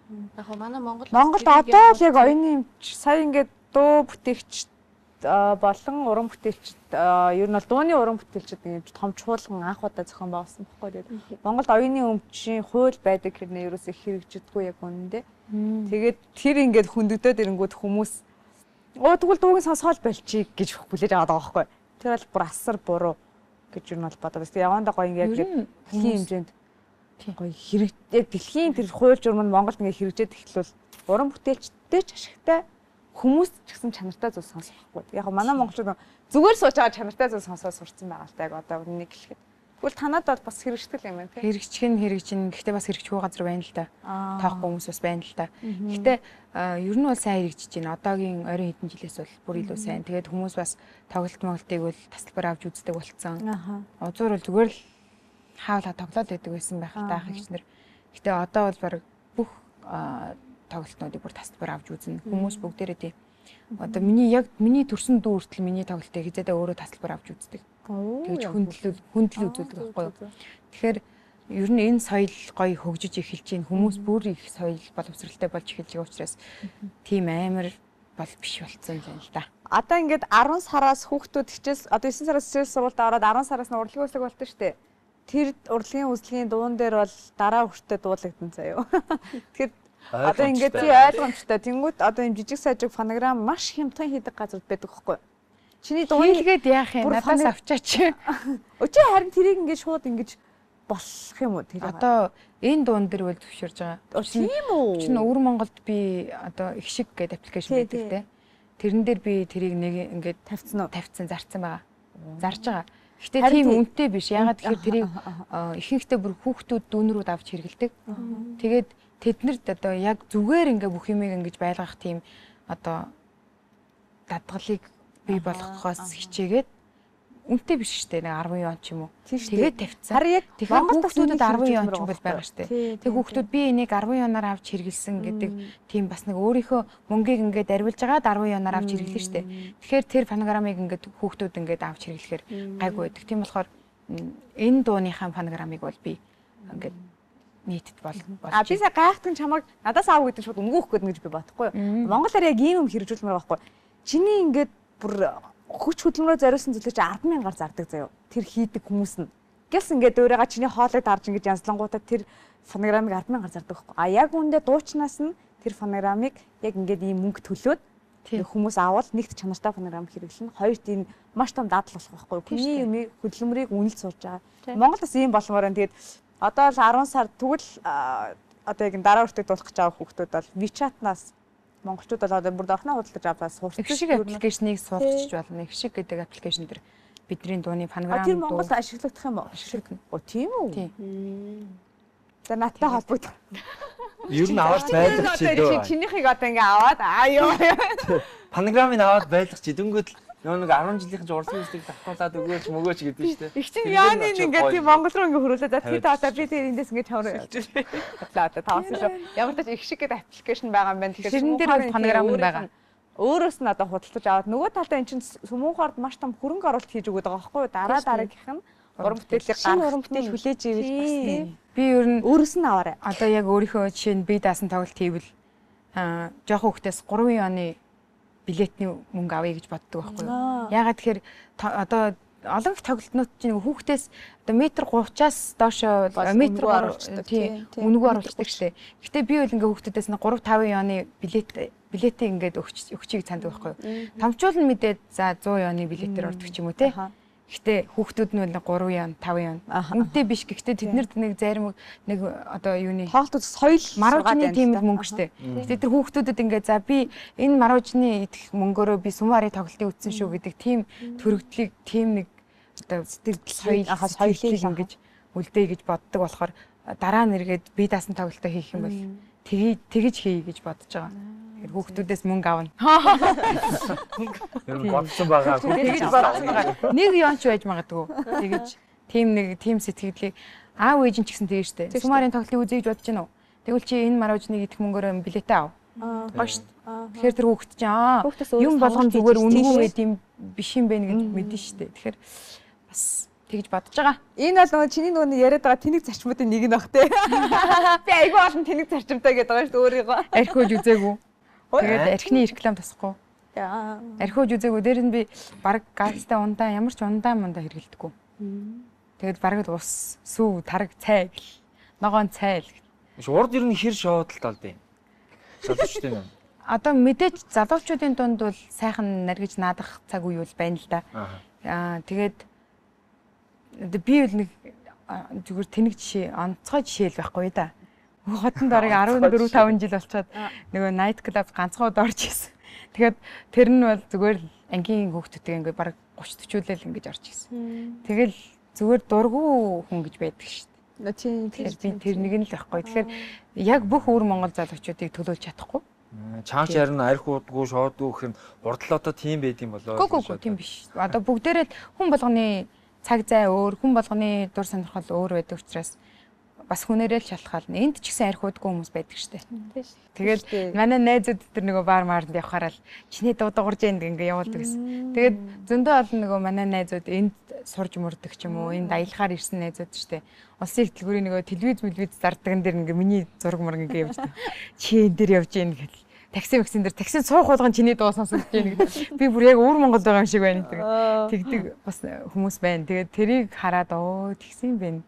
Яг манай Монголд одоо л яг оюуны эмч сая ингээд дуу бүтээгч болон уран бүтээлчд ер нь бол дууны уран бүтээлчд ингээд том чуулган анх удаа зохион байгуулсан байхгүй тэгээд Монголд оюуны өмчийн хууль байдаг хэрнээ ерөөсөө хэрэгжидэггүй яг үнэндээ. Тэгээд тэр ингээд хөндөгдөөд ирэнгүүт хүмүүс тэгвэл дуугийн сонсоол болчих гэж хүлээж аваад байгаа байхгүй. Тэр бол бүр асар буруу гэж юу нь бол бодоод байна. Явандаа гоё ингээд дэлхийн хэмжээнд гоё хэрэг яг дэлхийн тэр хууль журам нь Монголд ингээд хэрэгжээд эхлүүл уран бүтээлчтэй ч ашигтай хүмүүс ч гэсэн чанартай зүйл сонсох байхгүй. Яг манай монголчууд зүгээр сууж байгаа чанартай зүйл сонсоод сурцсан байгаа л та яг одоо нэг хэлэхэд. Тэгвэл танад бол бас хэрэгждэг юм байна тийм. Хэрэгжин гэхдээ бас хэрэгжихгүй газар байна л да. Тоохгүй хүмүүс бас байна л да. Гэхдээ ер нь бол сайн хэрэгжиж байна. Одоогийн 20 хэдэн жилээс бол бүр илүү сайн. Тэгээд хүмүүс бас тоглолт моголтыг бол тасалбар авч үздэг болцсон. Узуур бол зүгээр л хаалга тоглоод байдаг байсан байх л та ах ихнэр. Гэхдээ одоо бол баг бүх тоглолтнуудыг бүр тасалбар авч үзнэ. Хүмүүс бүгдээрээ тийм. Одоо миний төрсөн дүү хүртэл миний тоглолтыг хизээдээ өөрөө тасалбар авч үздэг. Тэгэж хүндлэл үзүүлдэг байхгүй юу. Тэгэхээр ер нь энэ соёл гоё хөгжиж эхэлж байна. Хүмүүс бүр их соёл боловсралтай болж эхэлж байгаа учраас тийм амар бол биш болцсон юм л да. Одоо ингээд 10 сараас хүүхдүүд хичээл одоо 9 сараас хичээл сургуультай ороод 10 сараас нь урлагийн үслэг болтон шүү дээ. Тэр урлагийн үслэгийн дуун дээр бол дараа хүртээ дуулагдсан заяа. Тэгэхээр одоо ингээд тий ойлгомжтой. Тэнгүүд одоо юм жижиг сажиг фонограм маш хямдхан хийдэг газар байдаг байхгүй юу? Чиний дууны хийлгээд яах юм? Надаас авчаач. Өчигдөр харин тэрийг ингээд шууд ингэж болох юм уу тэр? Одоо энэ дуун дээр үл зөвшөөрж байгаа. Тийм үү? Чин өвөр Монголд би одоо их шиг гэдэг аппликейшн байдаг те. Тэрэн дээр би тэрийг нэг ингээд тавьсан зарцсан байгаа. Зарж байгаа. Гэхдээ тийм үнэтэй биш. Ягаад гэхээр тэрийг ихэнхдээ бүр хүүхдүүд дүүнрүүд авч хэрэгэлдэг. Тэгээд тэднэрд одоо яг зүгээр ингээ бүх юмыг ингэж байлгах тийм одоо дадгалыг бий болгохоос хичээгээд үнэтэй биш штэ нэг 10 он ч юм уу. Тэгээд тавьцсан. Харин яг Монгол хүүхдүүдэд 10 он ч бол байгаа штэ. Тэг хүүхдүүд би энийг 10 оноор авч хэрэгэлсэн гэдэг тийм бас нэг өөрийнхөө мөнгийг ингээд арвилж байгаа 10 оноор авч хэрэглэн штэ. Тэгэхээр тэр фонограмыг ингээд хүүхдүүд ингээд авч хэрэглэхээр гайгүй байдаг. Тийм болохоор энэ дууныхаа фонограмыг бол би ингээд нийтэд болж. Би сая гайхтан чамайг надаас аав гэдэг шууд өнгөөх гээд гэж би бодохгүй юу. Монголоор яг ийм юм хэрэгжүүлмээр байхгүй. Чиний ингээд бүр хүч хөдөлмөрөөр зориулсан зүйлээ чи 10,000-аар зардаг заяа. Тэр хийдэг хүмүүс нь. Гэс ингээд өөрийгөө чиний хоолыг дарж ингэж янзлангуудаа тэр фонограмыг 10,000-аар зардаг байхгүй. А яг үүндээ дуучнаас нь тэр фонограмыг яг ингээд ийм мөнгө төлөөд хүмүүс аавал нэгт чанартай фонограм хэрэглэн хоёрт энэ маш том дадал болох байхгүй. Хүний юмыг хөдөлмөрийг үнэлж сурж байгаа. Монгол бас ийм болмоор байна. Тэгээд одоо л 10 сар тэгвэл одоо яг дараа хүртэл дуулах гэж байгаа хүүхдүүд бол WeChat-наас монголчууд бол одоо бүр орхноо худалдаж аваад сурч их шиг аппликейшнийг суулгачж болно. Их шиг гэдэг аппликейшн дээр бидний дууны фонограм тэр Монголд ашиглагдах юм уу? Ашиглагдана. Тийм үү? За наттай холбогдох. Ер нь аваад байлгах чи дөө. Чинийхийг одоо ингээ аваад аюу. Фонограмыг аваад байлгах чи дөнгөд нэг 10 жилийнхэн урлагийн үслийг татуулаад өгөөч мөгөөч гэдэг нь шүү дээ. Их чинь яаны ингээ тийм Монгол руу ингээ хөрүүлээ. За тий одоо би тэр эндээс ингээ тавар явж байна. Одоо тавсан шүү. Ямар ч их шиг гэдэг аппликейшн байгаа юм байна. Тэгэхээр тэр бол фонограм байгаа. Өөрөөс нь одоо худалдаж аваад нөгөө талдаа эн чинь сүмүүхорд маш том хөрөнгө оруулалт хийж өгöd байгаа байхгүй юу? Дараа дараагийнх нь уран бүтээлийг гаргах уран бүтээл хүлээж ивэл бас тийм. Би ер нь өөрөөс нь аваарай. Одоо яг өөрийнхөө жишээ нь би даасан тоглолт хийвэл жоохон хүүхдээс 3 оны билетний мөнгө авъя гэж боддог байхгүй юу. Ягаад тэгэхээр одоо олон их тоглолтнууд чинь хүүхдээс одоо метр 30-аас доошо метр тийм үнэгүй оруулдаг штэ. Гэтэ би бол ингээ хүүхдүүдээс 3-5 оны билетийг ингээд өгчийг цаандаг байхгүй юу. Томчуул нь мэдээд за 100 оны билетээр ордог ч юм уу те. Гэтэ хүүхдүүд нь бол 3 ян 5 ян үнэтэй биш. Гэхдээ тэднэрд нэг зарим нэг одоо юуны хоолтууд соёл маружны тийм мөнгө штэ. Гэтэ тэр хүүхдүүдэд ингээ за би энэ маружны идэх мөнгөөрөө би сумари тоглолтыг үтсэн шүү гэдэг тийм төрөгдлийг тийм нэг одоо сэтгэл соёлыг ингэж үлдээе гэж боддог болохоор дараа нь эргээд би даасан тоглолтоо хийх юм бол тэгэж хий гэж бодож байгаа. Тэгэхээр хүүхдүүдээс мөнгө авна. Тэр бодсон байгаа. Тэгэж бодсон байгаа. Нэг ёонч байж магадгүй. Тэгэж тийм сэтгэлийг аав ээж нь ч гэсэн тэгэж штэ. Сумарын тоглолтыг үзье гэж бодож байна уу? Тэгвэл чи энэ маружныг идэх мөнгөөрөө билетээ ав. Гош. Тэгэхээр тэр хүүхд чинь юм болгон зүгээр үнэгүй байд юм биш юм бэ гэж мэдэн штэ. Тэгэхээр бас тэгж бодож байгаа. Энэ бол нөгөө чиний нөгөө яриад байгаа тэнэг зарчмуудын нэг нь баг те. Би айгүй олон тэнэг зарчимтай гэдэг байгаа шүү дээ өөрийгөө. Архиуж үзээгүй. Тэгээд архины реклам тасахгүй. Архиуж үзээгүй. Дээр нь би баг газтай ундаа ямар ч ундаа хэрэгэлдэггүй. Тэгээд бараг ус, сүү, тараг, цай гэл. Ногоон цай л гэл. Урд ер нь хэр шоудлт алд юм. Залуучтай юм. Одоо мэдээж залуучуудын дунд бол сайхан наргиж наадах цаг үе бол байна л да. Тэгээд би бол нэг зүгээр тэнэг жишээ, онцгой жишээ л байхгүй да. Хотонд орыг 14-5 жил болчиход нөгөө night club ганцхан удаа орж исэн. Тэгээд тэр нь бол зүгээр л ангийн хүүхдүүдтэй ингээд бараг 30-40 ингэж орж исэн. Тэгэл зүгээр дургу хүн гэж байдаг шүү дээ. Тэгэхээр би тэр нэг нь л байхгүй. Тэгэхээр яг бүх өвөр Монгол залуучуудыг төлөөлж чадахгүй. Чаач харин арх уудгүй, шоодгүй гэх юм урдл одоо тийм байд юм болоо. Үгүй тийм биш. Одоо бүгдээрээ хүн болгоны цаг зай өөр, хүн болгоны дур сонирхол өөр байдаг учраас бас хүнээрээ л шалтгаална. Энд ч гэсэн арх уудгүй хүмүүс байдаг штэ. Тэгээд манай найзууд тэр нөгөө баар маарнд явхаараа л чиний дуудагурж ингээ явуулдаг гэсэн. Тэгээд зөндөө олон нөгөө манай найзууд энд сурж мөрдөг ч юм уу, энд аялахаар ирсэн найзууд штэ. Улсын их төлбөрийн нөгөө телевиз зардаган дээр ингээ миний зураг мөр ингээ явж та. Чи энэ дээр явж гин гэл. Такси максин дээр таксид суух болгон чиний дуу сонсож гин гэдэг. Би бүр яг өвөр Монголд байгаа юм шиг байна гэдэг. Тэгдэг бас хүмүүс байна. Тэгээд тэрийг хараад тэгсэн юм байна.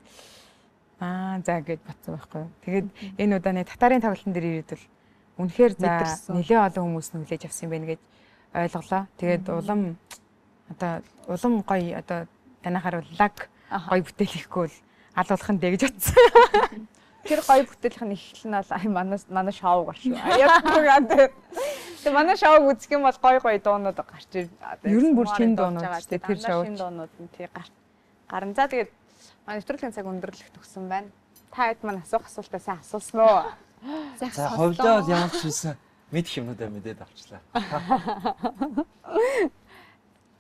За гэж бодсон байхгүй. Тэгээд энэ удааны татарын тоглолтын дээр ирээд бол үнэхээр за нэлээ олон хүмүүс нь хүлээж авсан юм байна гэж ойлголоо. Тэгээд улам гоё одоо танахаар лаг гоё бүтээл хийхгүй бол алуулах нь дээ гэж бодсон. Тэр гоё бүтээлх нь эхлэн бол манай шоу гаш шүү. Яг бүгд тэр манай шоуг үзэх юм бол гоё дуунууд гарч ир. Ер нь бүр шинэ дуунууд шүү дээ тэр шоу. Шинэ дуунууд нь тий гарна. За тэгээд манай нэвтрүүлгийн цаг өндөрлөх төгсөн байна. Та хэд маань асуултаа сайн асуусан уу? За ховлоо ямар ч хийсэн мэдх юмудаа мэдээд авчлаа.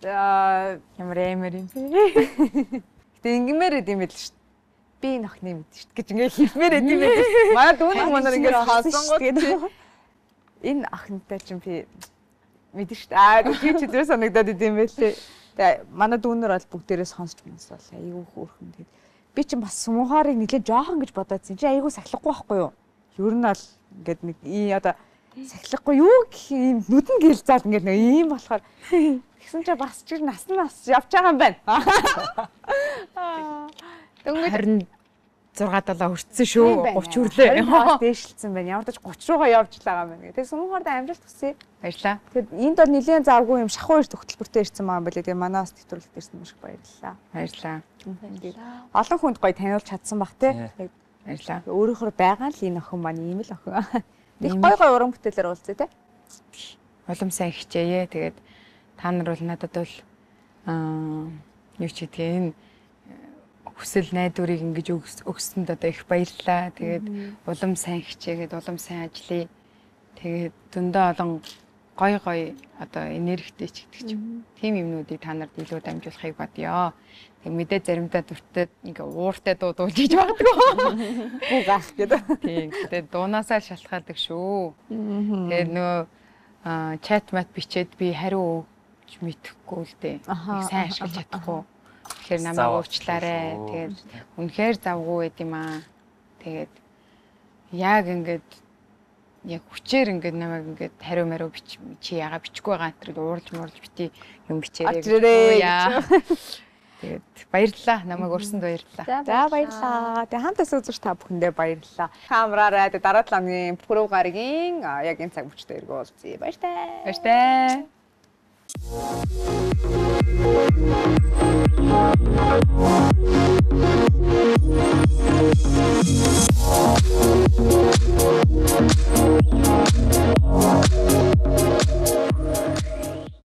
За ямар юм бэ? Гэтэ ингэмээр идэм байл шүү. Би энэ охины мэд шүү гэж ингээ хэлмээр идэм байл. Манай дүүнер манаар ингээ хаасан гоо. Энэ охинтой чинь би мэдэн шүү. Би ч зөв санагдаад идэм байлээ. Тэгээ манай дүүнер бол бүгдээрээ сонсч мансвал айгүй хөөрхөн. Тэгээд би чинь бас сумухаарыг нэлээд жоохон гэж бодоодсэн. Чи айгүй сахилахгүй байхгүй юу? Ер нь бол ингээд нэг одоо сахилахгүй юу гэх юм нүдэн гэлзаад ингээд нэг ийм болохоор тэгсэн чи бас чи нас явж байгаа юм байна. Дөнгөж 6-7 хүрсэн шүү. 30 хүрлээ. Бас дээшилсэн байна. Ямар ч 30 руугаа явж байгаа юм байна. Тэгээ сумухаард амжилт хүсье. Баярлалаа. Тэгэд энд бол нэлийн завгүй юм шахуу эрт хөтөлбөртэй ирсэн байгаа юм байна. Тэгээ манай бас нэвтрүүлэгт ирсэн маш их баярлалаа. Баярлалаа. Олон хүнд гоё таниулж чадсан бах тий. Баярлалаа. Өөрөөхөр байгаа л энэ охин маань ийм л охин. Тэг гоё уран бүтээлээр уулзъя тий. Улам сайн хичээе. Тэгээд та нар бол надад бол юу ч гэдгийг энэ хүсэл найдварыг ингэж өгсөнд одоо их баярлалаа. Тэгээд улам сайн хичээгээд улам сайн ажиллая. Тэгээд зөндөө олон гой одоо энергитэй ч гэдэг ч юм. Тим юмнуудыг та нарт илүү дамжуулахыг бодъё. Тэг мэдээ заримдаа дүртэй ингээ ууртай дуудуулж хийж магадгүй. Бүү гах гэдэг. Тийм. Тэгээд дуунаасаа шалтгаалдаг шүү. Тэгээд нөгөө чат мат бичээд би хариу өгч мэдэхгүй л дээ. Их сайн ашиглаж чадахгүй. Тэгэхээр намайг уучлаарай. Тэгээд үнэхээр завгүй байд юм аа. Тэгээд яг ингээд яг хүчээр ингээд намайг ингээд хариу мариу чи яага бичихгүй байгаа энэ уурж бити юм бичээрэй. Тэгээд баярлалаа. Намайг урьсанд баярлалаа. За баярлалаа. Тэгээд хамтаас үзэж та бүхэндээ баярлалаа. Камераараа дараа 7 хоногийн пүрэв гарагийн яг энэ цаг мөчтөө иргөө уулзъя. Баяртай. Баяртай.